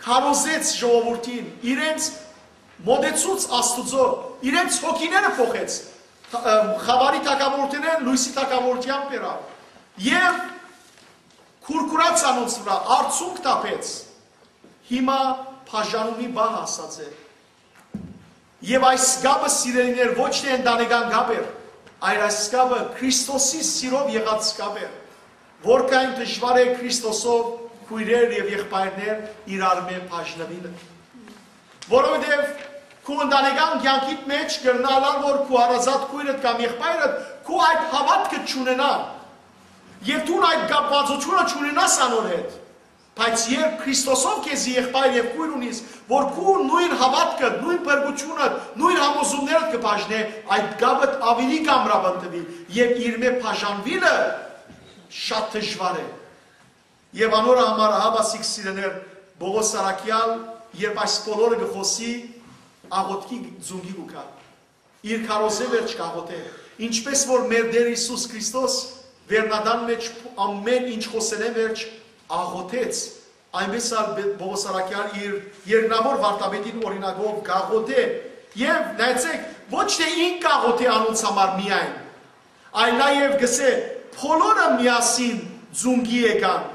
քարոզեց ժողովուրդին, իրենց մոտեցուց Աստուծոյ, իրենց հոգիները փոխեց, թ-, ը, խաւարի թագաւորութենէն լոյսի թագաւորութեան բերաւ եւ քուրքուրաց անոնց վրայ, արցունք թափեց։ Հիմա բաժանումի պահ հասած է։ Եւ այս կապը, սիրելիներ, ոչ թէ ընտանեկան կապ էր, այլ այս կապը Քրիստոսի սիրով եղած կապ էր, որքան դժուար է Քրիստոսով քոյրեր եւ եղբայրներ իրարմէ բաժնուիլը։ Որովհետեւ քու ընտանեկան կեանքիդ մէջ կրնալար, որ քու հարազատ քոյրդ կամ եղբայրդ քու այդ հաւատքը չունենայ, եւ դուն այդ կապվածությունը չունենաս անոր հետ, բայց երբ Քրիստոսով քեզի եղբայր եւ քոյր ունիս, որ քու նոյն հաւատքը, նոյն փրկությունը, նոյն համոզումներդ կը բաժնէ, այդ կապը աւելի կ'ամրապնդուի եւ իրմէ բաժանուիլը շատ դժուար է։ Եւ անոր համար ահա ասիկ, սիրելիներ, Պողոս Առաքեալ, երբ այս բոլորը կը խօսի, աղօթքի ծունկի կու գայ, իր քարոզէ վերջ կ'աղօթէ, ինչպէս որ մեր Տէր Յիսուս Քրիստոս վերնատան մէջ ամէն ինչ խօսելէն վերջ աղօթեց, այնպէս ալ Պ-, Պողոս Առաքեալ իր երկնաւոր վարդապետին օրինակով կ'աղօթէ։ Եւ նայեցեք, ոչ թէ ինք կ'աղօթէ անոնց համար միայն, այլ նաեւ կ'ըսէ, բոլորը միասին ծունկի եկան։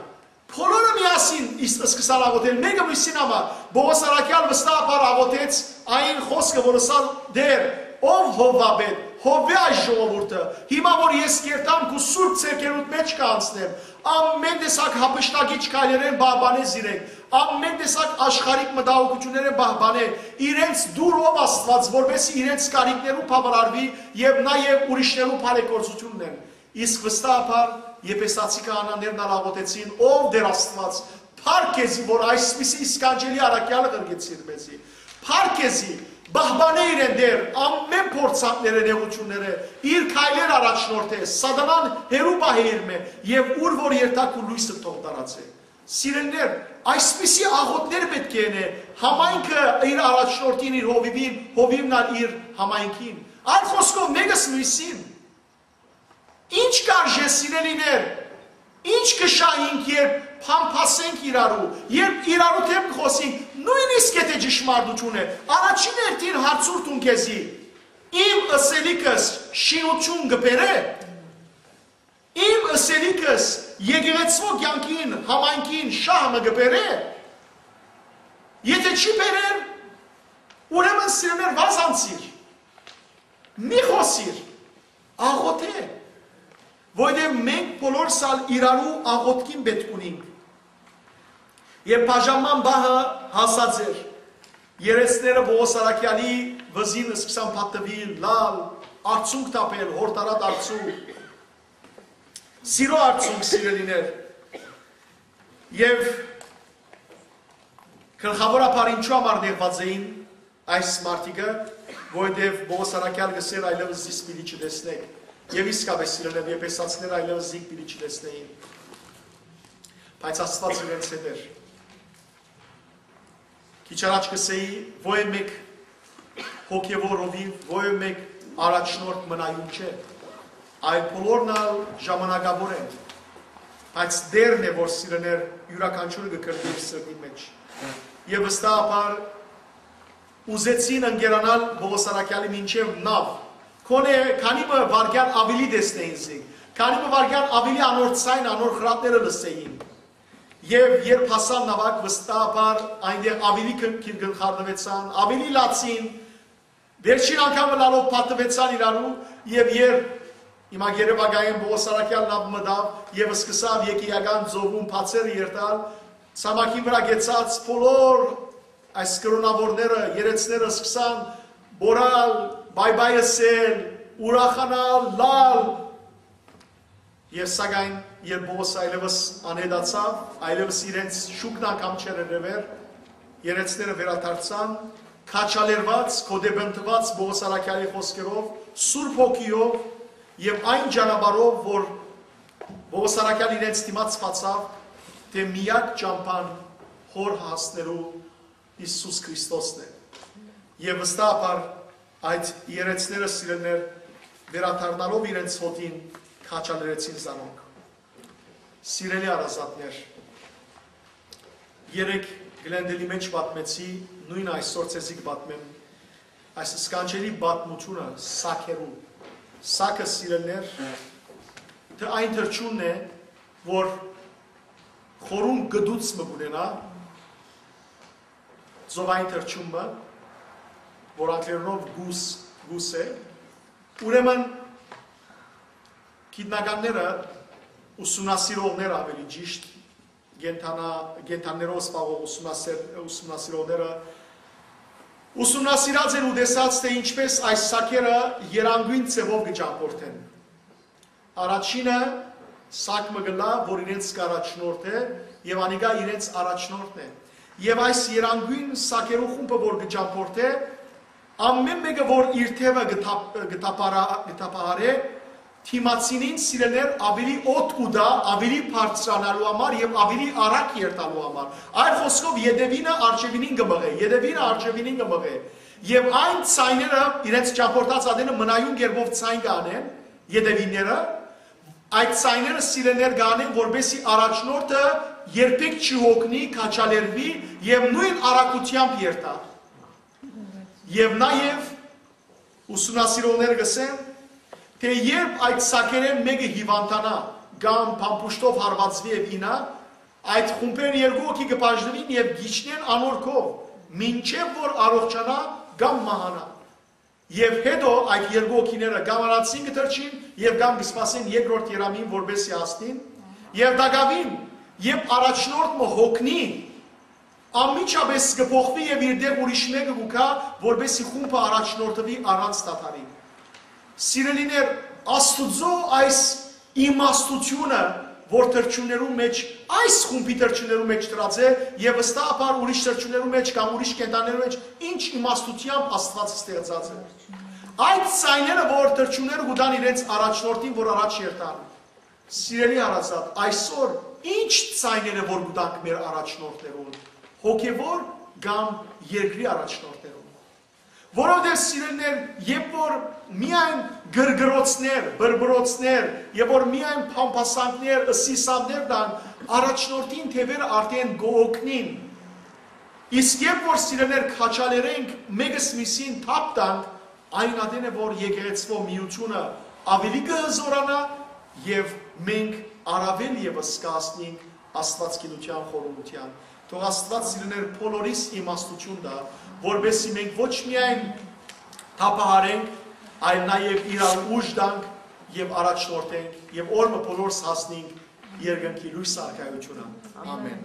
Բոլորը միասին իս-, սկսան աղօթել, մէկը միւսին համար։ Պողոս Առաքեալ վստահաբար աղօթեց այն խօսքը, որ ըսաւ Տէր, ով Յովհա պէտ, Յովհէ այս ժողովուրդը, հիմա որ ես կերտամ քու սուրբ ձեռքերուդ մէջ կ'անցնեմ, ամէն տեսակ յափշտակիչ քայլերէն պահպանէ զիրենք, ամէն տեսակ աշխարհիկ մտահոգութիւններէն պահպանէ, իրենց դուր ով Աստուած, որպէս զի իրենց կարիքներուն բաւարարուի եւ նաեւ ուրիշներու բարեգործութիւնն են։ Իսկ վստահաբար Եփեսացի քահանաներն ալ աղօթեցին, ով Տէր Աստուած, փառք քեզի, որ այսպիսի իսկանջելի առաքեալը ղրկեցիր մեզի։ Փառք քեզի, պահպանէ իրեն Տէր, ամէն փորձանքները, նեղութիւնները, իր քայլեր առաջնորդէ, սատանան հեռու պահէ իրմէ, եւ ուր որ երթայ քու լոյսը թող տարածէ։ Սիրելիներ, այսպիսի աղօթքներ պէտք է ընէ համայնքը իր առաջնորդին, իր հովիւին, հովիւն ալ իր համայնքին։ Այլ խօսքով, մէկս միւսին։ Ի՞նչ կ'արժէ, սիրելիներ, ի՞նչ կը շահինք, երբ փամփասենք իրարու, երբ իրարու դէմ կը խօսինք, նոյնիսկ եթէ ճշմարտութիւն է, առաջին հերթին հարցուր դուն քեզի. իմ ըսելիքս շինութիւն կը բերէ, իմ ըսելիքս եկեղեցւոյ կեանքին, համայնքին շահ մը կը բերէ, եթէ չի բերեր, ուրեմն, սիրելիներ, վազանցիր, մի խօսիր, աղօթէ, որովհետեւ մենք բոլորս ալ իրարու աղօթքին պէտք ունինք։ Եւ բաժանման պահը հասած էր։ Երեսները Պողոս Առաքեալի վզին սկսան փաթթուիլ, լալ, արցունք թափել, հորդառատ արցունք, սիրո արցունք, սիրելիներ։ Եւ գլխաւորաբար ինչու համար նեղուած էին այս մարդիկը, որովհետեւ Պողոս Առաքեալ կ'ըսէր. «Այլեւս զիս պիտի չտեսնէք»։ Եւ իսկապէս, սիրելիներ, Եփեսացիները այլեւս զինք պիտի չտեսնէին։ Բայց Աստուած իրենց հետ էր։ Քիչ առաջ կ'ըսէի, ոյ մէկ հոգեւոր հովիւ, ոյ մէկ առաջնորդ մնայուն չէ, այլ բոլորն ալ ժամանակաւոր են, բայց Տէրն է, որ, սիրելիներ, իւրաքանչիւրը կը կրկնի իր սրտին մէջ։ Եւ վստահաբար ուզեցին ընկերանալ Պողոս Առաքեալի մինչեւ նաւ, գոնե քանի մը վայրկեան աւելի տեսնէին զինք, քանի մը վայրկեան աւելի անոր ձայնը, անոր խրատները լսէին։ Եւ երբ հասան նաւակ, վստահաբար այնտեղ աւելի քնքիր գլխառնուեցան, աւելի լացին, վերջին անգամ լալով փաթթուեցան իրարու, եւ երբ հիմա երեւակայեն Պողոս Առաքեալ նաւ մտաւ եւ սկսաւ Եկիական ծովուն բացերը երթալ, ցամաքին վրայ գեցած բոլոր այս կրոնաւորները, երեցները սկսան բոռալ, բայ-բայ ըսել, ուրախանալ, լալ, եւ սակայն երբ Պողոս այլեւս անհետացաւ, այլեւս իրենց շուկն անգամ չերևեր, երեցները վերադարձան, քաջալերված, գօտեպնդուած Պողոս Առաքեալի խօսքերով, Սուրբ Հոգիով եւ այն ճանապարհով, որ Պողոս Առաքեալ իրենց դիմաց բացաւ, թէ միակ ճամբան Հօր հասնելու Յիսուս Քրիստոսն է։ Եւ վստահաբար այդ երեցները, սիրելիներ, վերադառնալով իրենց հօտին, քաջալերեցին զանոնք։ Սիրելի հարազատներ, Երեկ Գլենդելի մէջ պատմեցի, նոյն այսօր ձեզի կը պատմեմ այս սքանչելի պատմութիւնը սակերու։ Սակը, սիրելիներ, թ-, այն թռչունն է, որ խորուն գտուց մը կունենայ, ծովային թռչուն մը, որ անգլերենով գուս, գուս է։ Ուրեմն գիտնականները, ուսումնասիրողները, ավելի ճիշտ, կենդանա-, կենդաններով զբաղող ուսումնասեր-, ուսումնասիրողները ուսումնասիրած են ու տեսած, թ-, ինչպէս այս սակերը երանգոյն ձեւով կը ճամբորդեն։ Առաջինը սակ մը կ'ըլլայ, որ իրենց կ'առաջնորդէ, եւ անիկա իրենց առաջնորդն է։ Եւ այս երանգոյն սակերու խումբը, որ կը ճամբորդէ, ամէն մէկը, որ իր թեւը կը թափ-, կը թափարա-, կը թափահարէ, դիմացինին, սիրելիներ, ավելի օդ կու տայ, ավելի բարձրանալու համար եւ ավելի արագ երթալու համար։ Այլ խօսքով, ետեւինը արջեւինին կը մղէ, ետեւինը արջեւինին կը մղէ։ Եւ այն ձայները, իրենց ճամբորդած ատենը մնայուն կերպով ձայն կ'անեն, ետեւինները, այդ ձայները, սիրելիներ, կ'անեն, որպեսզի առաջնորդը երբեք չի հոգնի, քաջալերուի եւ նոյն արագութեամբ երթայ։ Եւ նաեւ ուսումնասիրողները կ'ըսեն, թէ երբ այդ սակերէն մէկը հիւանդանայ կամ փամփուշտով հարուածուի եւ իյնայ, այդ խումբէն երկու հոգի կը բաժնուին եւ կ'իջնեն անոր քով, մինչեւ որ առողջանայ կամ մահանայ։ Եւ յետոյ այդ երկու հոգիները կամ առանձին կը թռչին եւ կամ կը սպասեն երկրորդ երամին, որպեսզի հասնին։ Եւ տակաւին, երբ առաջնորդ մը հոգնի, անմիջապէս կը փոխուի եւ իր տեղ ուրիշ մէկը կու գայ, որպեսզի խումբը առաջնորդուի առանց դադարի։ Սիրելիներ, Աստուծոյ այս իմաստութիւնը, որ թռչուններու մէջ, այս խումբի թռչուններու մէջ դրած է, եւ վստահաբար ուրիշ թռչուններու մէջ կամ ուրիշ կենդաններու մէջ, ինչ իմաստութեամբ Աստուած ստեղծած է։ Այդ ձայները, որ թռչունները կու տան իրենց առաջնորդին, որ առաջ երթան։ Սիրելի հարազատ, այսօր ինչ ձայներ է, որ կու տանք մեր առաջնորդներուն, հոգեվոր կամ երկրի առաջնորդներուն։ Որովհետեւ, սիրելիներ, երբ որ միայն գրգռոցներ, բրբրոցներ, եւ որ միայն փամփասանքներ, ըսիլսաններ տան, առաջնորդին թեւերը արդեն կ'օգնին։ Իսկ երբ որ, սիրելիներ, քաջալերենք, մէկս միսին թափ տանք, այն ատեն է, որ եկեղեցւոյ միութիւնը ավելի կը հզօրանայ եւ մենք առաւել եւս կ'հասնենք Աստուածագիտութեան խորունկութեան։ Թող Աստուած, սիրելիներ, բոլորիս իմաստութիւն տայ, որպեսզի մենք ոչ միայն թափահարենք, այլ նաեւ իրար ուժ տանք եւ առաջնորդենք եւ օր մը բոլորս հասնենք երկնքի լոյս արքայութիւնը։ Ամէն։